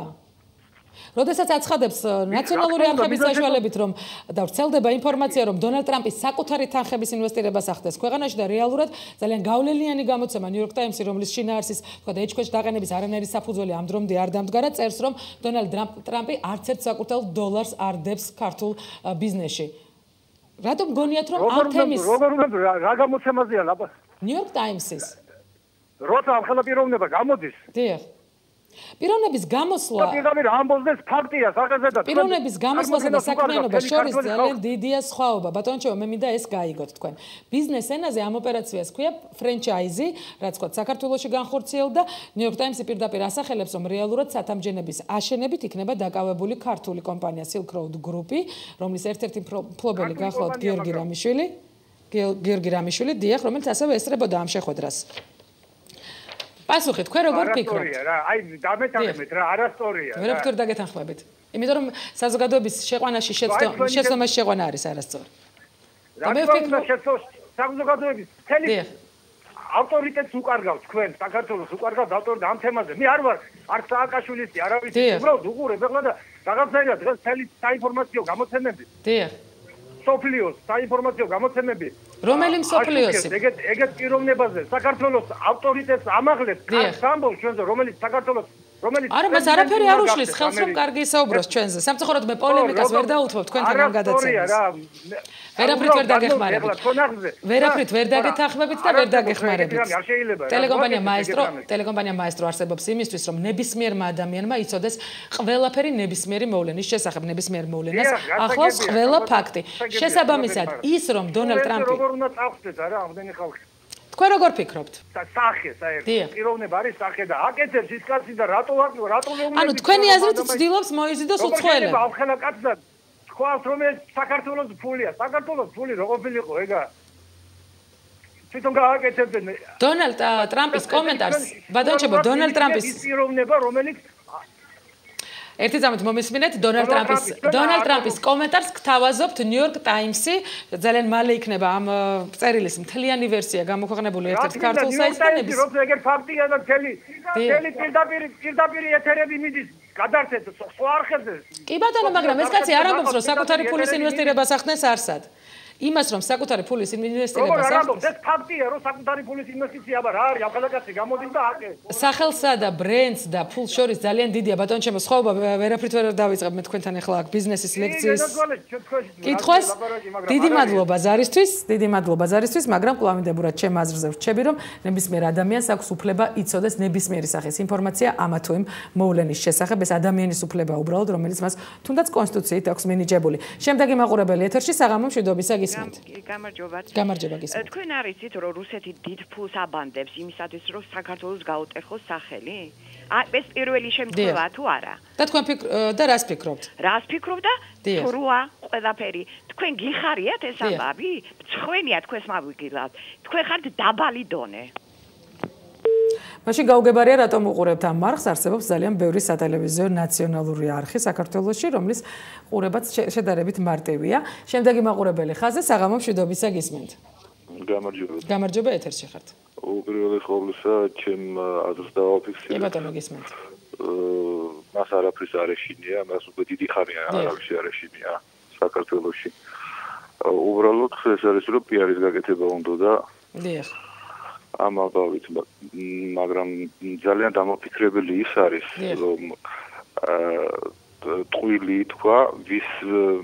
Speaker 1: როდესაც აცხადებს ნაციონალური არხების საშუალებით რომ და ვრცელდება ინფორმაცია რომ დონალდ ტრამპის საკუთარი თანხების ინვესტირებას ახდენს ქვეყანაში და რეალურად ძალიან გავლენიანი გამოცემა New York Times-ი რომლის შინაარსის თქვა და ეჭქვეშ დაყენების არანაირი საფუძველი ამ დრომდე არ დამდგარა წერს რომ დონალდ ტრამპი არც ერთ საკუთარ დოლარს არ დებს ქართულ ბიზნესში. რატომ გონიათ რომ ამ თემის
Speaker 13: რა გამოცემაზეა ლაბა?
Speaker 1: New York Times-ის.
Speaker 13: როცა ამ ხელა პიროვნება გამოდის.
Speaker 1: დიახ. პიროვნების გამოსვლა
Speaker 13: პირდაპირ ამბობს ფაქტია სახეზე და
Speaker 1: პიროვნების გამოსვლასა და საქმიანობას შორის ძალიან დიდია სხვაობა. ბატონო ჩემო, მე მინდა ეს გაიგოთ თქვენ. ბიზნეს ენაზე ამ ოპერაციას ქვია ფრენჩაიზი, რაც თქვა საქართველოში განხორციელდა. New York Times-ი პირდაპირ ასახელებს, რომ რეალურად სათამჯენების აშენებით იქნება დაკავებული ქართული კომპანია Silk Road Group-ი, რომლის ერთ-ერთი მფლობელი გახლავთ გიორგი რამიშვილი, დიახ, რომელიც ასევე ესწრებოდა ამ შეხვედრას. პასუხი თქვენ როგორ ფიქრობთ?
Speaker 13: აი დამეთანხმეთ რა, არასწორია.
Speaker 1: ვერაფერ დაგეთანხმებით. იმიტომ რომ საზოგადოების შეყვანაში შეცდომაში შეყვანა არის არასწორი.
Speaker 13: და მე ვფიქრობ, საზოგადოების მთელი ავტორიტეტს უკარგავს თქვენ, საქართველოს უკარგავს ავტორიტეტს ამ თემაზე. მე არ ვარ არც სააკაშვილისი, არავის უბრალოდ უყურებ ახლა და რაღაცნაირად დღეს მთელი საინფორმაციო გამოცემები.
Speaker 1: დიახ.
Speaker 13: სოფლიოს საინფორმაციო გამოცემები.
Speaker 1: რომელი მსოფლიოსი?
Speaker 13: ეგეთ პიროვნებაზე საქართველოს ავტორიტეტს ამაღლებს, ამბობს ჩვენზე, რომელიც საქართველოს
Speaker 1: არა, მას არაფერი არ უშლის ხელს რომ კარგი ისაუბროს ჩვენზე. სამწუხაროდ მე პოლემიკას ვერ დაუთმობ თქვენთან ამ გადაცემას. ვერაფრით ვერ დაგეხმარებით. ვერაფრით ვერ დაგეთანხმებით და ვერ დაგეხმარებით. ტელეკომპანია მაესტრო არსებობს იმისთვის, რომ ნებისმიერმა ადამიანმა იცოდეს ყველაფერი ნებისმიერი მოვლენის შესახებ, ნებისმიერ მოვლენას ახლავს ყველა ფაქტი. შესაბამისად, ის რომ დონალდ ტრამპი
Speaker 13: როგორ უნდა წავხდეს არა ამდენი ხალხი.
Speaker 1: თქვენ როგორ ფიქრობთ?
Speaker 13: სახე საერთოდ პიროვნება არის სახე და აკეთებს ის კაცი და რატო
Speaker 1: ანუ თქვენი აზრით ცდილობს მოიზიდოს უცხოელებს.
Speaker 13: ახლა კაცდა თქვას რომ ეს საქართველოს ფულია. საქართველოს ფული რო ყოფილიყო ეგა. თვითონ გააკეთებდნენ.
Speaker 1: დონალდ ტრამპის კომენტარს, ბატონო ჩემო, დონალდ ტრამპის
Speaker 13: პიროვნება რომელიც
Speaker 1: ერთი წამით მომისმინეთ დონალდ ტრამპის კომენტარს გთავაზობთ New York Times-ი ძალიან მალე იქნება ამ წერილის მთლიანი ვერსია გამოქვეყნებული ერთ-ერთ ქართულ საიტზე ნების
Speaker 13: როცა ეგერ ფაქტია და მთელი პირდაპირ ეთერები მიდის გადარჩეთ სხვა არხებზე
Speaker 1: კი ბატონო მაგრამ ეს კაცი არ ამბობს რომ საკუთარი ფულის ინვესტირებას ახდენს არსად იმას რომ საკუთარი ფულის ინვესტირებას
Speaker 13: ახდენს ეს ფაქტია რომ საკუთარი ფულის ინვესტიცია რა არის ახალგაზრდა გამოდის და აკეთებს
Speaker 1: სახელსა და ბრენდს და ფულს შორის ძალიან დიდია ბატონო ჩემო სხვაობა ვერაფრით ვერ დავიწყებ მე თქვენთან ახლა აქ ბიზნესის ლექციის კითხვას დიდი მადლობა ზარისთვის მაგრამ კლავინდებურად ჩემ აზრზე ვრჩები რომ ნებისმიერ ადამიანს აქვს უფლება იცოდეს ნებისმიერი სახის ინფორმაცია ამა თუ იმ მოვლენის შესახებ ეს ადამიანის უფლება უბრალოდ რომელიც მას თუნდაც კონსტიტუციით აქვს მინიჭებული შემდეგი მაყურებელი ეთერში საღამო მშვიდობისა გამარჯობა გისმენთ.
Speaker 14: თქვენ არიცით რომ რუსეთი დიდ ფულს აბანდებს იმისათვის რომ საქართველოს გაუტეხოს სახელი? ეს პირველი შემთხვევაა თუ არა?
Speaker 1: და თქვენ და რას ფიქრობთ?
Speaker 14: რას ფიქრობ და როა ყველაფერი. თქვენ გიხარიათ ეს ამბავი? მწხვენია თქვენს მავიგილავთ. თქვენ ხართ დაბალი დონე.
Speaker 1: მაშინ გაუგებარია რატომ უყურებთ ამ მარხს არსებობს ძალიან ბევრი სატელევიზიო ნაციონალური არხი საქართველოში რომლის ყურებაც შედარებით მარტივია შემდეგი მაყურებელი ხაზზე საღამო მშვიდობისა გისმენთ გამარჯობა ეთერში ხართ
Speaker 15: უპირველეს ყოვლისა ჩემ აზრს დავაფიქსირე
Speaker 1: კი ბატონო გისმენთ
Speaker 15: მას არაფრის არ ეშინია მას უკვე დიდი ხანია არავის არ ეშინია საქართველოში უბრალოდ ეს არის რომ პიარის გაკეთება უნდა და
Speaker 1: დიახ
Speaker 15: ამ ალბავით მაგრამ ძალიან დამოფიქრებელი ის არის რომ ტყუილი თქვა ვის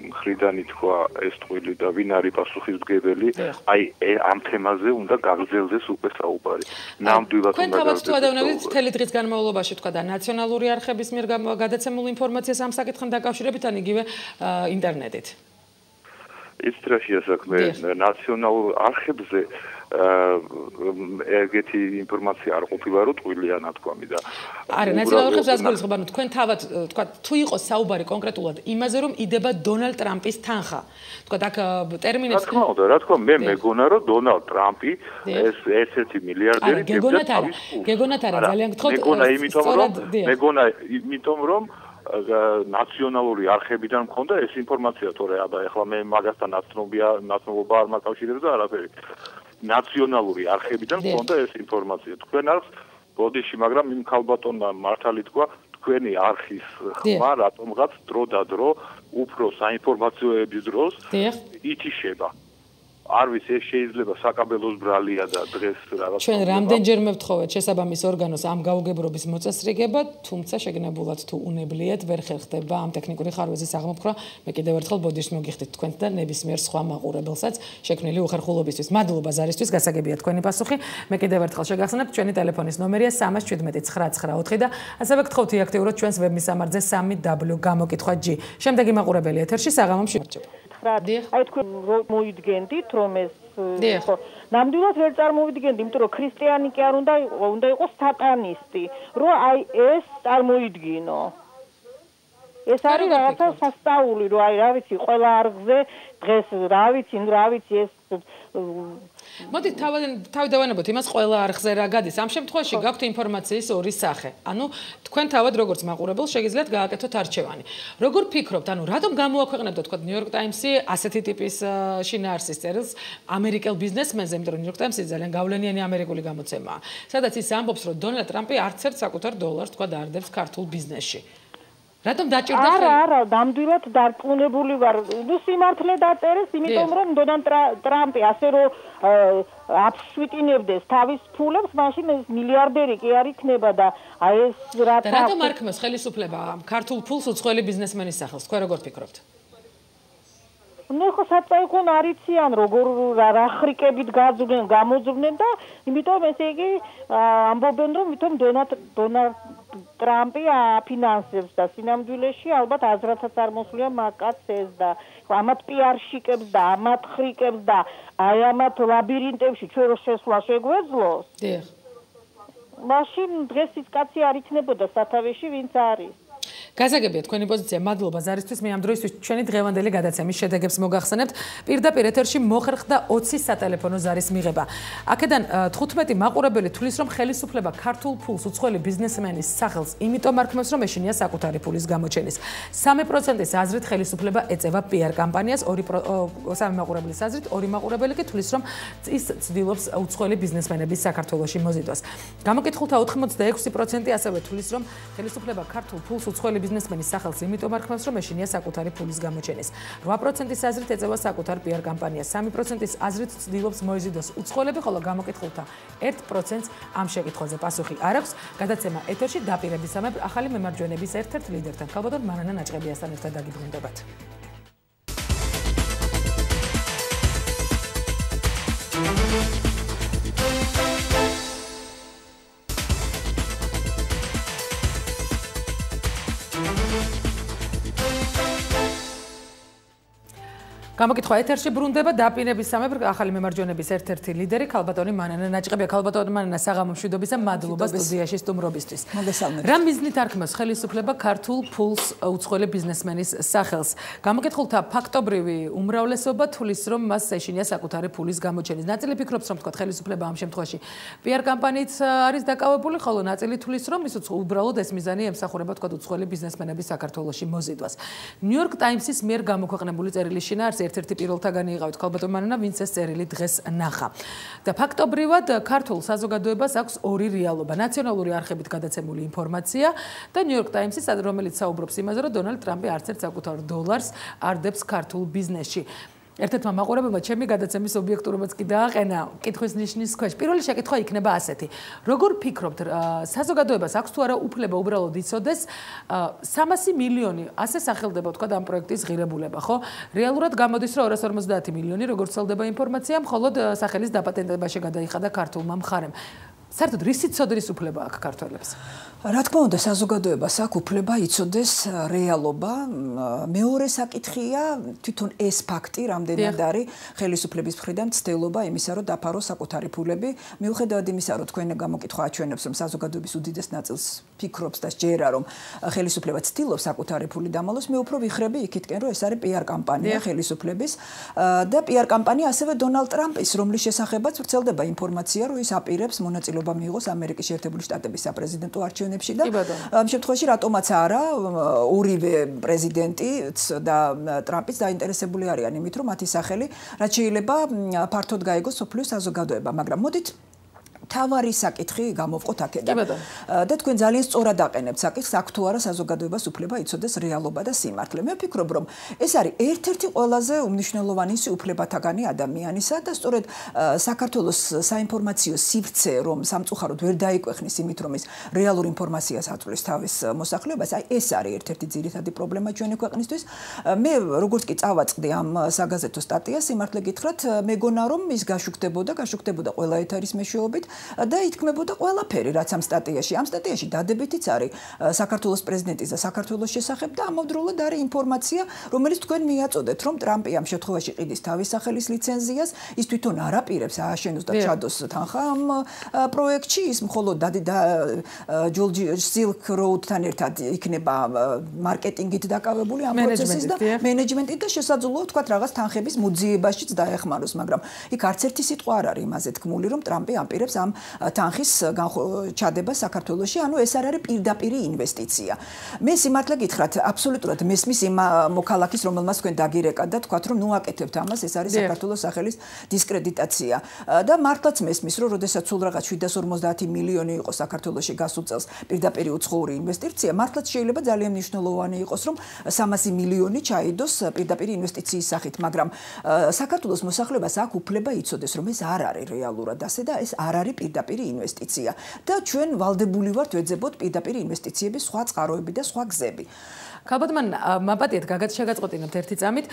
Speaker 15: მხრიდანი თქვა ეს ტყუილი და ვინ არის პასუხისმგებელი აი ამ თემაზე უნდა გაგრძელდეს უკვე საუბარი ნამდვილად
Speaker 1: უნდა გაგრძელდეს თქვენ თავად მთელი დღის განმავლობაში თქვა და ნაციონალური არხების მიერ გადაცემულ ინფორმაციას ამ საკითხთან დაკავშირებით ან იგივე ინტერნეტით
Speaker 15: ის ტრაშია საქმე ნაციონალურ არხებზე ეგეთი ინფორმაცია არ ყოფილა რომ ტყუილია ნათქვამი და
Speaker 1: არა ნაციონალურ ხებს რას გულისხმობ ანუ თქვენ თავად თქვა თუ იყოს საუბარი კონკრეტულად იმაზე რომ იდება დონალდ ტრამპის თანხა თქვა აქ ტერმინებს
Speaker 15: რა თქმა უნდა მე მეგონა რომ დონალდ ტრამპი ეს ერთ-ერთი მილიარდერი
Speaker 1: გეგონათ არა ძალიან გთხოვთ
Speaker 15: მეგონა იმიტომ რომ ნაციონალური არხებიდან მქონდა ეს ინფორმაცია თორე აბა ეხლა მე მაგასთან ნაცნობობა არ მაკავშირებს და არაფერი ნაციონალური არხებიდან მქონდა ეს ინფორმაცია თქვენ არს ბოდიში მაგრამ იმ ქალბატონმა მართალი თქვა თქვენი არხის ხმა რატომღაც დრო და დრო უფრო საინფორმაციოების დროს ითიშება არ ვიცი ეს შეიძლება საკაბელოს ბრალია და დღეს რაღაც
Speaker 1: ჩვენ რამდენჯერმე ვთხოვეთ შესაბამის ორგანოს ამ გაუგებრობის მოწესრიგება თუმცა შეგნებულად თუ უნებლიეთ ვერ ხერხდება ამ ტექნიკური ხარვეზის აღმოფხვრა მე კიდევ ერთხელ ბოდიში მოგიხდით თქვენთ და ნებისმიერ სხვა მაყურებელსაც შექმნილი უხერხულობისთვის მადლობა ზარისთვის გასაგებია თქვენი პასუხი მე კიდევ ერთხელ შეგახსენებთ ჩვენი ტელეფონის ნომერია 317 999 და ასევე გთხოვთ იაქტიუროთ ჩვენს ვებმისამართზე 3w გამოკითხვა G შემდეგი მაყურებელი ეთერში საღამომში
Speaker 12: აი თქვენ მოიდგენდით რომ ეს ნამდვილად ვერ წარმოვიდგენდი იმიტომ რომ ქრისტიანი კი არ უნდა იყოს სატანისტი რომ აი ეს წარმოიდგინო ეს არის რაღაცა სასწაული რომ აი რა ვიცი ყველა არხზე დღეს რა ვიცი ეს
Speaker 1: მოდით თავი დავანებოთ იმას ყველა არხზე რა გადის ამ შემთხვევაში გაქვთ ინფორმაციის ორი სახე ანუ თქვენ თავად როგორც მაყურებელს შეგიძლიათ გააკეთოთ არჩევანი როგორ ფიქრობთ ანუ რატომ გამოაქვეყნებდოთ თქვა New York Times-ი ასეთი ტიპის შინაარსის წერილს ამერიკელ ბიზნესმენზე იმიტომ რომ New York Times-ი ძალიან გავლენიანი ამერიკული გამოცემაა სადაც ის ამბობს რომ დონალდ ტრამპი არც ერთ საკუთარ დოლარს თქვა დაარდებს ქართულ ბიზნესში რატომ დაჭირდა ხელი?
Speaker 12: არა, ნამდვილად დარწმუნებული ვარ. ნუ სიმართლე დაწერეს, იმიტომ რომ დონალდ ტრამპი ასე რომ აფსვიტინებდეს თავის ფულებს, მაშინ ეს მილიარდერი კი არ იქნება და აი ეს
Speaker 1: რატომ არ ქმნის ხელისუფლება ქართულ ფულს უცხოელი ბიზნესმენის სახელს? თქვენ როგორ ფიქრობთ?
Speaker 12: ნუ ხო საწაიკონ არიციან როგორ რა ხრიკებით გამოძვნენ და იმიტომ ესე იგი ამბობენ რომ თვითონ დონალდ ტრამპი აფინანსებს და სინამდვილეში ალბათ აზრათაც არ მოსვლია მაგაც ეს და ამათ პიარშიკებს და ამათ ხრიკებს და აი ამათ ლაბირინტებში ჩვენ რო შესვლა შეგვეძლოს. დიახ. მაშინ დღეს ის კაცი არ იქნებოდა სათავეში ვინც არის.
Speaker 1: გასაგებია თქვენი პოზიცია მადლობა ზარისთვის მე ამ დროისთვის ჩვენი დღევანდელი გადაცემის შედეგებს მოგახსენებთ პირდაპირ ეთერში მოხერხდა 20 სატელეფონო ზარის მიღება აქედან 15 მაყურებელი თulis რომ ხელისუფლება ქართულ ფულს უცხოელი ბიზნესმენის სახელს იმიტომ არქმევს რომ ეშინია საკუთარი ფულის გამოჩენის 3%-ის აზრით ხელისუფლება ეწევა PR კამპანიას 3 მაყურებლის აზრით 2 მაყურებელი კი თulis რომ ის ცდილობს უცხოელი ბიზნესმენების საქართველოში მოზიდვას გამოკითხულთა 86% ასევე თulis რომ ხელისუფლება ქართულ ფულს უცხოელი ბიზნესმენის სახელს იმიტომ არქმევს რომ ეშინია საკუთარი ფულის გამოჩენის 8%-ის აზრით ეწევა საკუთარ PR კამპანიას 3%-ის აზრით ცდილობს მოიზიდოს უცხოელები ხოლო გამოკითხულთა 1%-ს ამ შეკითხვაზე პასუხი არ აქვს გადაცემა ეთერში დაპირებისამებრ ახალი მემარჯვენების ერთ-ერთ ლიდერთან ქალბატონ მანანა ნაჭყებიასთან ერთად დაგიბრუნდებათ გამოკითხვა ეთერში ბრუნდება დაპირებისამებრ ახალი მემარჯვენების ერთ-ერთი ლიდერი ქალბატონი მანანა ნაჭყებია ქალბატონი მანანა საღამო მშვიდობისა მადლობა სტუდიაში სტუმრობისთვის რა მიზნით არქმევს ხელისუფლება ქართულ ფულს უცხოელი ბიზნესმენის სახელს გამოკითხულთა ფაქტობრივი უმრავლესობა თulis რომ მას ეშინია საკუთარი ფულის გამოჩენის ნაწილი ფიქრობს რომ თქვა ხელისუფლება ამ შემთხვევაში PR კამპანიით არის დაკავებული ხოლო ნაწილი თulis რომ ის უბრალოდ ეს მიზანი ემსახურება თქვა უცხოელი ბიზნესმენების საქართველოში მოზიდვას New York Times-ის მიერ გამოქვეყნებული წერილის შინაარსი ერთ-ერთი პირველთაგანი იყავით ქალბატონ მანანა ვინც ეს წერილი დღეს ნახა და ფაქტობრივად ქართულ საზოგადოებას აქვს ორი რეალობა ნაციონალური არხებით გადაცემული ინფორმაცია და New York Times-ის რომელიც საუბრობს იმაზე რომ დონალდ ტრამპი არც ერთ საკუთარ დოლარს არ დებს ქართულ ბიზნესში ერთ-ერთმა მაყურებელმა ჩემი გადაცემის ობიექტურობაც კი დააყენა კითხვის ნიშნის ქვეშ. პირველი შეკითხვა იქნება ასეთი. როგორ ფიქრობთ, საზოგადოებას აქვს თუ არა უფლება უბრალოდ იცოდეს 300 მილიონი ასე სახელდება თქვა ამ პროექტის ღირებულება, ხო? რეალურად გამოდის რომ 250 მილიონი როგორც ცელდება ინფორმაცია, მხოლოდ სახელის დაპატენტებაში გადაიხადა ქართულმა მხარემ. საერთოდ რისი ცოდნის უფლება აქვს ქართველებს?
Speaker 16: რა თქმა უნდა, საზოგადოებას აქვს უფლება იცოდეს რეალობა. მეორე საკითხია თვითონ ეს ფაქტი, რამდენად არის ხელისუფლების მხრიდან ცდილობა იმისა, რომ დაფაროს საკუთარი ფულები. მიუხედავად იმისა, რომ თქვენ გამოკითხვა აჩვენებს, რომ საზოგადოების უდიდეს ნაწილს ფიქრობს და სჯერა, რომ ხელისუფლება ცდილობს საკუთარი ფული დამალოს, მე უფრო ვიხრები იქითკენ, რომ ეს არის PR კამპანია ხელისუფლების და PR კამპანია ასევე დონალდ ტრამპის, რომლის შესახებაც ვრცელდება ინფორმაცია, რომ ის აპირებს მონაწილეობა მიიღოს ამერიკის შეერთებული შტატების საპრეზიდენტო არჩევნებში. და ამ შემთხვევაში რატომაც არა ორივე პრეზიდენტიც და ტრამპიც დაინტერესებული არიან იმით, რომ მათი სახელი რაც შეიძლება ფართოდ გაიგოს სოფლიო საზოგადოება, მაგრამ მოდით თავარი საკითხი გამოვყოთ აქედან. და თქვენ ძალიან სწორად აყენებთ საკითხს, აქ თუ არა საზოგადოებას უფლება იცოდეს რეალობა და სიმართლე. მე ვფიქრობ, რომ ეს არის ერთ-ერთი ყველაზე უმნიშვნელოვანი უფლებათაგანი ადამიანისა და სწორედ საქართველოს საინფორმაციო სივრცე, რომ სამწუხაროდ ვერ დაიკვეხნის იმით, რომ ის რეალურ ინფორმაციას აწვლის თავის მოსახლეობას, აი ეს არის ერთ-ერთი ძირითადი პრობლემა ჩვენი ქვეყნისთვის. მე როგორც კი წავაწყდი ამ საგაზეთო სტატიას, სიმართლე გითხრათ, მეგონა რომ ის გაშუქდებოდა ყველა ეთერის მეშვეობით და ითქმებოდა ყველაფერი, რაც ამ სტატიაში. ამ სტატიაში დადებითიც არის საქართველოს პრეზიდენტის და საქართველოს შესახებ და ამავდროულად არის ინფორმაცია, რომელიც თქვენ მიაწოდეთ, რომ ტრამპი ამ შემთხვევაში ყიდის თავის სახელის ლიცენზიას, ის თვითონ არ აპირებს ააშენოს და ჩადოს თანხა ამ პროექტში, ის მხოლოდ ჯორჯი სილკ როუდთან ერთად იქნება მარკეტინგით დაკავებული ამ პროცესის და მენეჯმენტით და შესაძლოა თქვა რაღაც თანხების მოძიებაშიც დაეხმაროს, მაგრამ იქ არც ერთი სიტყვა არ არის იმაზე თქმული, რომ ტრამპი აპირებს ამ თანხის ჩადება საქართველოში, ანუ ეს არ არის პირდაპირი ინვესტიცია. მე სიმართლე გითხრათ, აბსოლუტურად მესმის იმ მოქალაქის, რომელმაც თქვენ დაგირეკათ და თქვათ, რომ ნუ აკეთებთ ამას, ეს არის საქართველოს სახელის დისკრედიტაცია. და მართლაც მესმის, რომ როდესაც სულ რაღაც 750 მილიონი იყო საქართველოში გასულ წელს პირდაპირი უცხოური ინვესტიცია, მართლაც შეიძლება ძალიან მნიშვნელოვანი იყოს, რომ 300 მილიონი ჩაიდოს პირდაპირი ინვესტიციის სახით, მაგრამ საქართველოს მოსახლეობას აქვს უფლება იცოდეს, რომ ეს არ არის რეალურად ასე და ეს არ არის პირდაპირი ინვესტიცია და ჩვენ ვალდებული ვართ ვეძებოთ პირდაპირი ინვესტიციების სხვა წყაროები და სხვა გზები.
Speaker 1: ქალბატონ მაპატიეთ შეგაწყვეტინებთ ერთი წამით.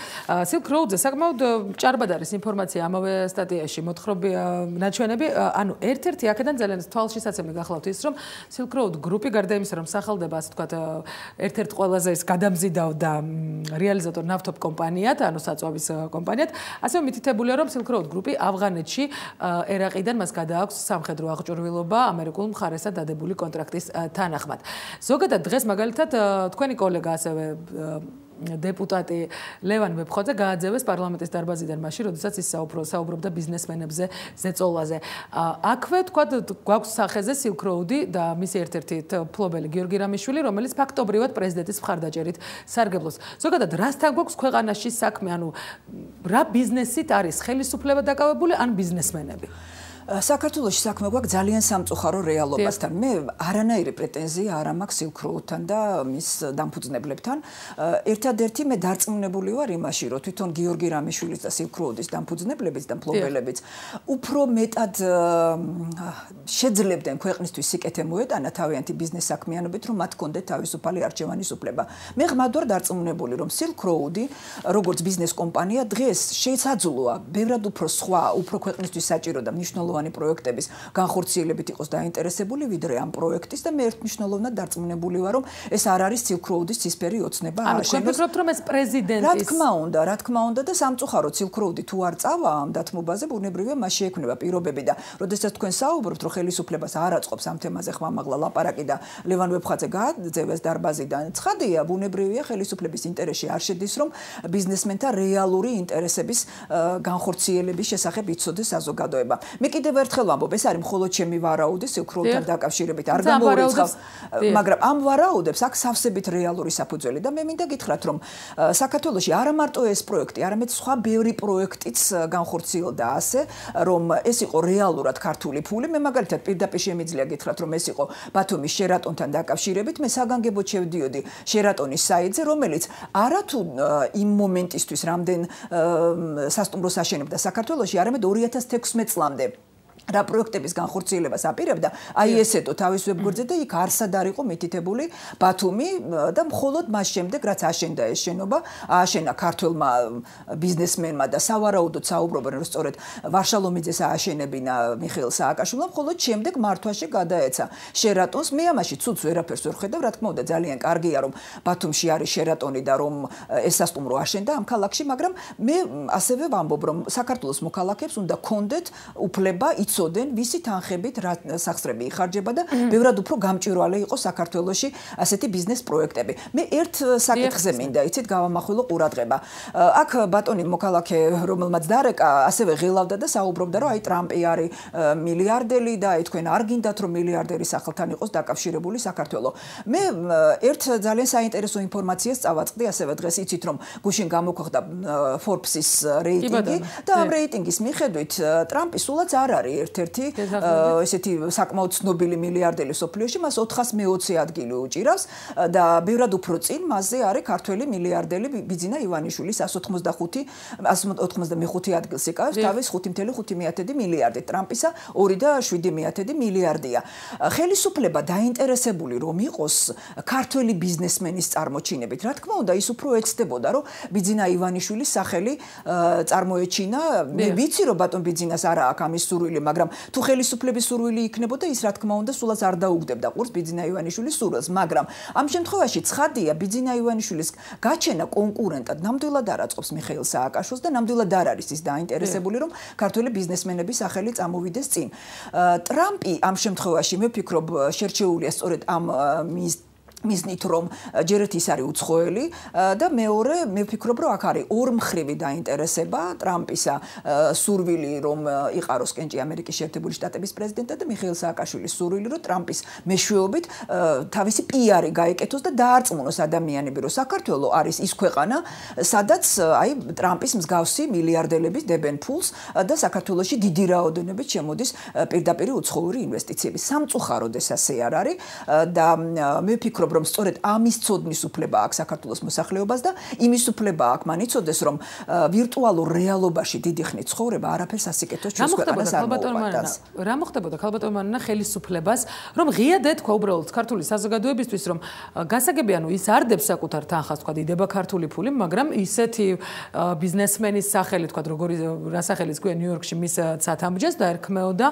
Speaker 1: Silk Road-ზე საკმაოდ ჭარბად არის ინფორმაცია ამავე სტატიაში, მოთხრობი ნაჩვენები, ანუ ერთ-ერთი აქედან ძალიან თვალშისაცემი გახლავთ ის, რომ Silk Road გრუპი გარდა იმისა, რომ სახელდება ასე ვთქვათ, ერთ-ერთ ყველაზე ის გადამზიდავ და რეალიზატორ ნავთობ კომპანიად, ანუ საწვავის კომპანიად, ასევე მითითებულია, რომ Silk Road გრუპი ავღანეთში ერაყიდან მას გადააქვს სამხედრო აღჭურვილობა ამერიკულ მხარესთან დადებული კონტრაქტის თანახმად. ზოგადად დღეს მაგალითად თქვენი კოლეგა ასევე დეპუტატი ლევან ვეფხოძე გააძევეს პარლამენტის დარბაზიდან მაშინ, როდესაც ის საუბრობდა ბიზნესმენებზე ზეწოლაზე. აქვე თქვა გვაქვს სახეზე Silk Road-ი და მისი ერთ-ერთი მფლობელი გიორგი რამიშვილი, რომელიც ფაქტობრივად პრეზიდენტის მხარდაჭერით სარგებლობს. ზოგადად რასთან გვაქვს ქვეყანაში საქმე, ანუ რა ბიზნესით არის ხელისუფლება დაკავებული ან ბიზნესმენები?
Speaker 16: საქართველოში საქმე გვაქვს ძალიან სამწუხარო რეალობასთან. მე არანაირი პრეტენზია არ მაქვს Silk Road-თან და მის დამფუძნებლებთან. ერთადერთი მე დარწმუნებული ვარ იმაში, რომ თვითონ გიორგი რამიშვილის და Silk Road-ის დამფუძნებლებიც და მფლობელებიც უფრო მეტად შეძლებდნენ ქვეყნისთვის სიკეთე მოეტანა თავიანთი ბიზნეს საქმიანობით, რომ მათ ჰქონდეთ თავისუფალი არჩევანის უფლება. მე ღმად ვარ დარწმუნებული, რომ Silk Road-ი როგორც ბიზნეს კომპანია დღეს შესაძლოა ბევრად უფრო სხვა, უფრო ქვეყნისთვის საჭირო და მნიშვნელოვანი პროექტების განხორციელებით იყოს დაინტერესებული ვიდრე ამ პროექტის და მე ერთმნიშვნელოვნად დარწმუნებული ვარ, რომ ეს არ არის Silk Road-ის ცისფერი ოცნება
Speaker 1: ააშენოს. ანუ ვფიქრობთ, რომ ეს პრეზიდენტის
Speaker 16: რა თქმა უნდა და სამწუხაროდ Silk Road-ი თუ არ წავა ამ დათმობაზე, ბუნებრივია მას შეექმნება პირობები და როდესაც თქვენ საუბრობთ, რომ ხელისუფლებას არ აწყობს ამ თემაზე ხმამაღლა ლაპარაკი და ლევან ვეფხაძე გააძევეს დარბაზიდან, ცხადია, ბუნებრივია ხელისუფლების ინტერესში არ შედის, რომ ბიზნესმენთა რეალური ინტერესების განხორციელების შესახებ იცოდეს საზოგადოება. მე კიდევ ერთხელ ვამბობ, ეს არის მხოლოდ ჩემი ვარაუდი Silk Road-თან დაკავშირებით, არ გამოურიცხავს, მაგრამ ამ ვარაუდებს აქ სავსებით რეალური საფუძველი და მე მინდა გითხრათ, რომ საქართველოში არა მარტო ეს პროექტი, არამედ სხვა ბევრი პროექტიც განხორციელდა ასე, რომ ეს იყო რეალურად ქართული ფული. მე მაგალითად პირდაპირ შემიძლია გითხრათ, რომ ეს იყო ბათუმის Sheraton-თან დაკავშირებით, მე საგანგებოდ შევდიოდი Sheraton-ის საიტზე, რომელიც არათუ იმ მომენტისთვის რამდენ სასტუმროს აშენებდა საქართველოში, არამედ 2016 წლამდე რა პროექტების განხორციელებას აპირებდა, აი ესეთო თავის ვებგვერდზე და იქ არსად არ იყო მითითებული ბათუმი და მხოლოდ მას შემდეგ რაც აშენდა ეს შენობა, ააშენა ქართველმა ბიზნესმენმა და სავარაუდოდ საუბრობენ რომ სწორედ ვარშალომიძეს ააშენებინა მიხეილ სააკაშვილმა, მხოლოდ შემდეგ მართვაში გადაეცა შერატონს. მე ამაში ცუც ვერაფერს ვერ ხედავ, რა თქმა უნდა ძალიან კარგია რომ ბათუმში არის შერატონი და რომ ეს სასტუმრო აშენდა ამ ქალაქში, მაგრამ მე ასევე ვამბობ რომ საქართველოს მოქალაქეებს უნდა კონდეთ უფლება იცოდენ ვისი თანხებით რა სახსრები იხარჯება და ბევრად უფრო გამჭვირვალე იყო საქართველოში ასეთი ბიზნეს პროექტები. მე ერთ საკითხზე მინდა იცით გავამახვილო ყურადღება. აქ ბატონი მოქალაქე რომელმაც დარეკა ასევე ღილავდა და საუბრობდა რომ აი ტრამპი არის მილიარდელი და აი თქვენ არ გინდათ რომ მილიარდერი სახელთან იყოს დაკავშირებული საქართველო. მე ერთ ძალიან საინტერესო ინფორმაციას წავაწყდი ასევე დღეს იცით რომ გუშინ გამოქვეყნდა Forbes-ის რეიტინგი და ამ რეიტინგის მიხედვით ტრამპი სულაც არ არის ერთ-ერთი ესეთი საკმაოდ ცნობილი მილიარდელი სოფლიოში, მას 420 ადგილი უჭირავს და ბევრად უფრო წინ მასზე არის ქართველი მილიარდელი ბიძინა ივანიშვილი 185 ადგილს იკავებს თავის 5.5 მილიარდით. ტრამპისა 2.7 მილიარდია. ხელისუფლება დაინტერესებული რომ იყოს ქართველი ბიზნესმენის წარმოჩინებით. რა თქმა უნდა, ის უფრო ეცდებოდა რომ ბიძინა ივანიშვილის სახელი წარმოეჩინა. მე ვიცი რომ ბატონ ბიძინას არა აქვს ამის სურვილი, მაგრამ თუ ხელისუფლების სურვილი იქნებოდა, ის რა თქმა უნდა სულაც არ დაუგდებდა ყურს ბიძინა ივანიშვილის სურვილს, მაგრამ ამ შემთხვევაში ცხადია ბიძინა ივანიშვილის გაჩენა კონკურენტად ნამდვილად არ აწყობს მიხეილ სააკაშვილს და ნამდვილად არ არის ის დაინტერესებული რომ ქართველი ბიზნესმენების სახელი წამოვიდეს წინ. ტრამპი ამ შემთხვევაში მე ვფიქრობ შერჩეულია სწორედ ამ მიზნით რომ ჯერეთ ის არის უცხოელი და მეორე მე ვფიქრობ რომ აქ არის ორმხრივი დაინტერესება ტრამპისა სურვილი რომ იყაროს კენჭი ამერიკის შეერთებული შტატების პრეზიდენტად და მიხეილ სააკაშვილის სურვილი რომ ტრამპის მეშვეობით თავისი პიარი გაეკეთოს და დაარწმუნოს ადამიანები რომ საქართველო არის ის ქვეყანა სადაც აი ტრამპის მსგავსი მილიარდელები დებენ ფულს და საქართველოში დიდი რაოდენობით შემოდის პირდაპირ უცხოური ინვესტიციები. სამწუხაროდ ეს ასე არ არის და მე ვფიქრობ რომ სწორედ ამის ცოდნის უფლება აქვს საქართველოს მოსახლეობას და იმის უფლება აქვს მან იცოდეს რომ ვირტუალურ რეალობაში დიდი ხნით ცხოვრება არაფერს ასიკეთოს ჩვენს ქვეყანას არ მოუყვარდას.
Speaker 1: რა მოხდებოდა ქალბატონმა ხელისუფლებას რომ ღიად ეთქვა უბრალოდ ქართული საზოგადოებისთვის რომ გასაგებია ნუ ის არ დებს საკუთარ თანხას თქვა იდება ქართული ფული, მაგრამ ისეთი ბიზნესმენის სახელი თქვა როგორი რა სახელიც გვია ნიუ-იორკში მის ცათამბჯენს და ერქმეოდა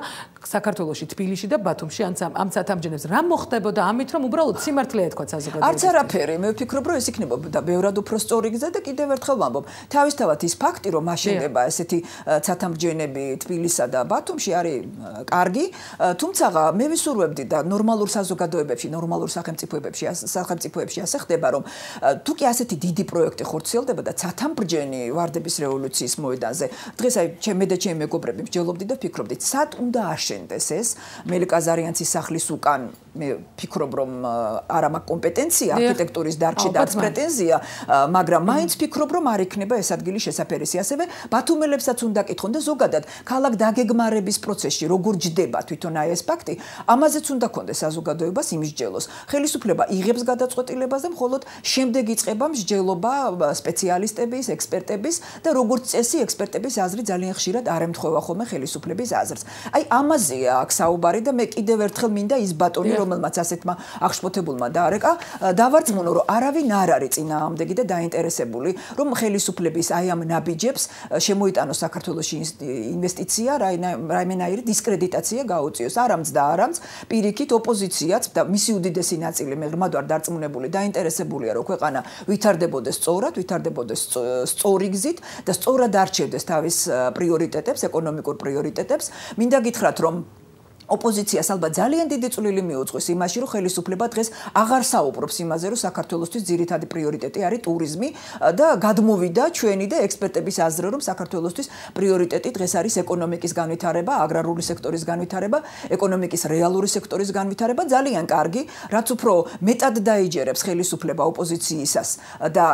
Speaker 1: საქართველოში თბილისში და ბათუმში ამ ცათამბჯენებს რა მოხდებოდა ამით რომ უბრალოდ სიმართლე
Speaker 16: არც არაფერი, მე ვფიქრობ რომ ეს იქნებოდა ბევრად უფრო სწორი გზა და კიდევ ერთხელ ვამბობ, თავისთავად ის ფაქტი რომ აშენდება ესეთი ცათამბჯენები თბილისსა და ბათუმში არის კარგი, თუმცა მე ვისურვებდი და ნორმალურ საზოგადოებებში, ნორმალურ სახელმწიფოებში ასე ხდება რომ თუ კი ასეთი დიდი პროექტი ხორციელდება და ცათამბჯენი ვარდების რევოლუციის მოედანზე, დღეს აი მე და ჩემი მეგობრები მსჯელობდი და ვფიქრობდით, სად უნდა აშენდეს ეს მელიკ აზარიანცის სახლის უკან, მე ვფიქრობ რომ არა მაქვს კომპეტენცია არქიტექტურის დარგში და პრეტენზია, მაგრამ მაინც ვფიქრობ რომ არ იქნება ეს ადგილი შესაფერისი. ასევე ბათუმელებსაც უნდა კითხონ და ზოგადად ქალაქ დაგეგმარების პროცესში როგორ ჯდება თვითონ აი ეს ფაქტი, ამაზეც უნდა კონდეს საზოგადოებას იმსჯელოს. ხელისუფლება იღებს გადაწყვეტილებას და მხოლოდ შემდეგ იწყება მსჯელობა სპეციალისტების, ექსპერტების და როგორც წესი ექსპერტების აზრი ძალიან ხშირად არ ემთხვევა ხოლმე ხელისუფლების აზრს. აი ამაზეა აქ საუბარი და მე კიდევ ერთხელ მინდა ის ბატონი რომელმაც ასეთმა აღშფოთებულმა დაარეკა, დავარწმუნო რომ არავინ არ არის წინააღმდეგი და დაინტერესებული რომ ხელისუფლების აი ამ ნაბიჯებს შემოიტანოს საქართველოში ინვესტიცია, რაიმენაირი დისკრედიტაცია გაუწიოს. არამც და არამც პირიქით ოპოზიციაც და მისი უდიდესი ნაწილი მე ღრმად ვარ დარწმუნებული დაინტერესებულია რომ ქვეყანა ვითარდებოდეს სწორად, ვითარდებოდეს სწორი გზით და სწორად არჩევდეს თავის პრიორიტეტებს, ეკონომიკურ პრიორიტეტებს. მინდა გითხრათ რომ ოპოზიციას ალბათ ძალიან დიდი წვლილი მიუძღვის იმაში, რომ ხელისუფლება დღეს აღარ საუბრობს იმაზე, რომ საქართველოსთვის ძირითადი პრიორიტეტი არის ტურიზმი და გადმოვიდა ჩვენი და ექსპერტების აზრი, რომ საქართველოსთვის პრიორიტეტი დღეს არის ეკონომიკის განვითარება, აგრარული სექტორის განვითარება, ეკონომიკის რეალური სექტორის განვითარება. ძალიან კარგი, რაც უფრო მეტად დაიჯერებს ხელისუფლება ოპოზიციისას და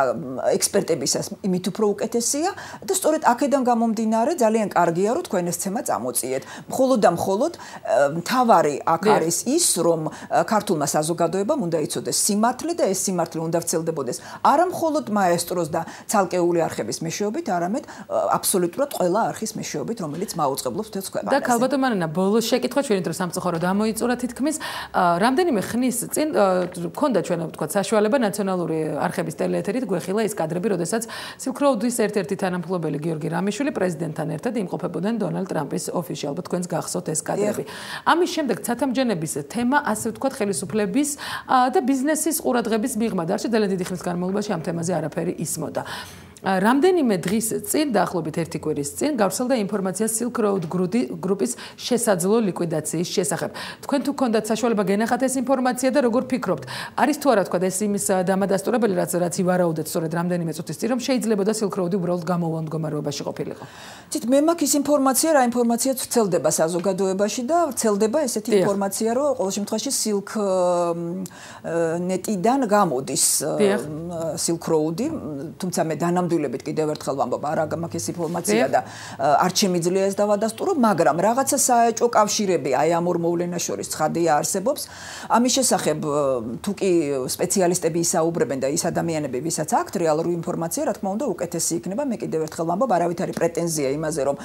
Speaker 16: ექსპერტებისას, იმით უფრო უკეთესია და სწორედ აქედან გამომდინარე ძალიან კარგია, რომ თქვენ ეს თემა წამოწიეთ. მხოლოდ და მხოლოდ მთავარი აქ არის ის, რომ ქართულმა საზოგადოებამ უნდა იცოდეს სიმართლე და ეს სიმართლე უნდა ვრცელდებოდეს არა მხოლოდ მაესტროს და ცალკეული არხების მეშვეობით, არამედ აბსოლუტურად ყველა არხის მეშვეობით, რომელიც მაუწყებლობს თეთრ ქვეყანას.
Speaker 1: და ქალბატონ მარინა, ბოლოს შეკითხვა ჩვენი დრო სამწუხაროდ ამოიწურა თითქმის რამდენიმე ხნის წინ გქონდა ჩვენ ვთქვათ საშუალება ნაციონალური არხების ტელეეთერით გვეხილა ის კადრები, როდესაც Silk Road-ის ერთ-ერთი თანამფლობელი გიორგი რამიშვილი პრეზიდენტთან ერთად იმყოფებოდნენ დონალდ ტრამპის ოფისში. ალბათ თქვენს გახსოვთ ეს კადრები. ამის შემდეგ ცათამბჯენების თემა, ასე ვთქვათ, ხელისუფლების და ბიზნესის ყურადღების მიღმა და არჩი ძალიან დიდი ხნის განმავლობაში ამ თემაზე არაფერი ისმოდა. რამდენიმე დღის წინ, დაახლოებით 1 კვირის წინ, გავრცელდა ინფორმაცია Silk Road გრუპის შესაძლო ლიკვიდაციის შესახებ. თქვენ თუ გქონდათ საშუალება გენახათ ეს ინფორმაცია და როგორ ფიქრობთ? არის თუ არა თქვა ეს იმის დამადასტურებელი, რაც ივარაუდეთ სწორედ რამდენიმე წუთის წინ, რომ შეიძლებოდა Silk Road-ი უბრალოდ გამოვონ მდგომარეობაში ყოფილიყო?
Speaker 16: ცით მე მაქვს ის ინფორმაცია, რა ინფორმაციაც ვრცელდება საზოგადოებაში და ვრცელდება ესეთი ინფორმაცია, რომ ყოველ შემთხვევაში Silk Net-იდან გამოდის Silk Road-ი, თუმცა მე დანამდვილებით კიდევ ერთხელ ვამბობ, არა მაქვს ეს ინფორმაცია და არ შემიძლია ეს დავადასტურო, მაგრამ რაღაცა საეჭვო კავშირები აი ამ ორ მოვლენას შორის ცხადია არსებობს. ამის შესახებ თუ კი სპეციალისტები ისაუბრებენ და ის ადამიანები, ვისაც აქვთ რეალური ინფორმაცია, რა თქმა უნდა, უკეთესი იქნება. მე კიდევ ერთხელ ვამბობ, არავითარი პრეტენზია იმაზე, რომ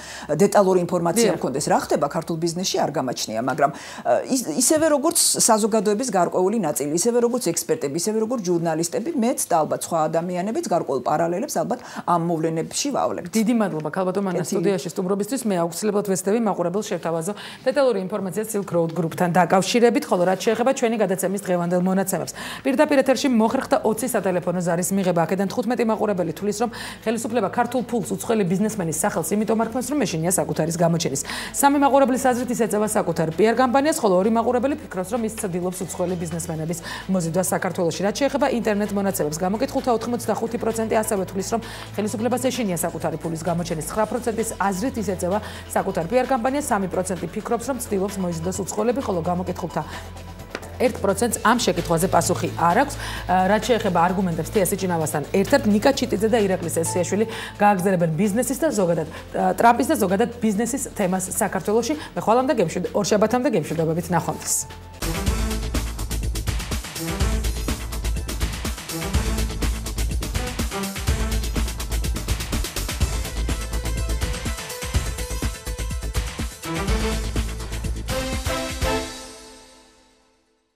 Speaker 16: დეტალური ინფორმაცია მქონდეს, რა ხდება ქართულ ბიზნესში არ გამაჩნია, მაგრამ ისევე როგორც საზოგადოების გარკვეული ნაწილი, ისევე როგორც ექსპერტები, ისევე როგორც ჟურნალისტები, მეც და ალბათ სხვა ადამიანებიც გარკვეულ პარალელებს ალბათ ამ მოვლენებში ვავლებთ.
Speaker 1: დიდი მადლობა ქალბატონ მარინა სტუდიაში სტუმრობისთვის. მე აუცილებლად ვესწრები მაყურებელს შევთავაზო დეტალური ინფორმაცია Silk Road გრუპთან დაკავშირებით, ხოლო რაც შეეხება ჩვენი გადაცემის დღევანდელ მონაცემებს. პირდაპირ ეთერში მოხერხდა 20 სატელეფონო ზარის მიღება. აქედან 15 მაყურებელი თulis, რომ ხელისუფლება ქართულ ფულს უცხოელი ბიზნესმენის სახელს იმიტომ არქმევს, რომ მეშინია საკუთარის გამოჩენის. 3 მაყურებლის აზრით ის ეწევა საკუთარ PR კამპანიას, ხოლო 2 მაყურებელი ფიქრობს, რომ ის ცდილობს უცხოელი ბიზნესმენების მოზიდვას საქართველოში. რაც შეეხება ინტერნეტ მონაცემებს, გამოკითხულთა 85% ასევე თulis, რომ ხელისუფლებას ეშინია საკუთარი ფულის გამოჩენის. 9%-ის აზრით ის ეწევა საკუთარ PR კამპანიას, 3% ფიქრობს, რომ ცდილობს მოიზიდოს უცხოელები, ხოლო გამოკითხულთა 1%-ს ამ შეკითხვაზე პასუხი არ აქვს. რაც შეეხება არგუმენტებს თეასი ჭინავასთან ერთად, ნიკა ჩიტიძე და ირაკლი სესიაშვილი გააგრძელებენ ბიზნესის და ზოგადად ტრამპის და ზოგადად ბიზნესის თემას საქართველოში. მე ხვალამდე გემშვიდობებით, ორშაბათამდე გემშვიდობებით, ნახვამდის.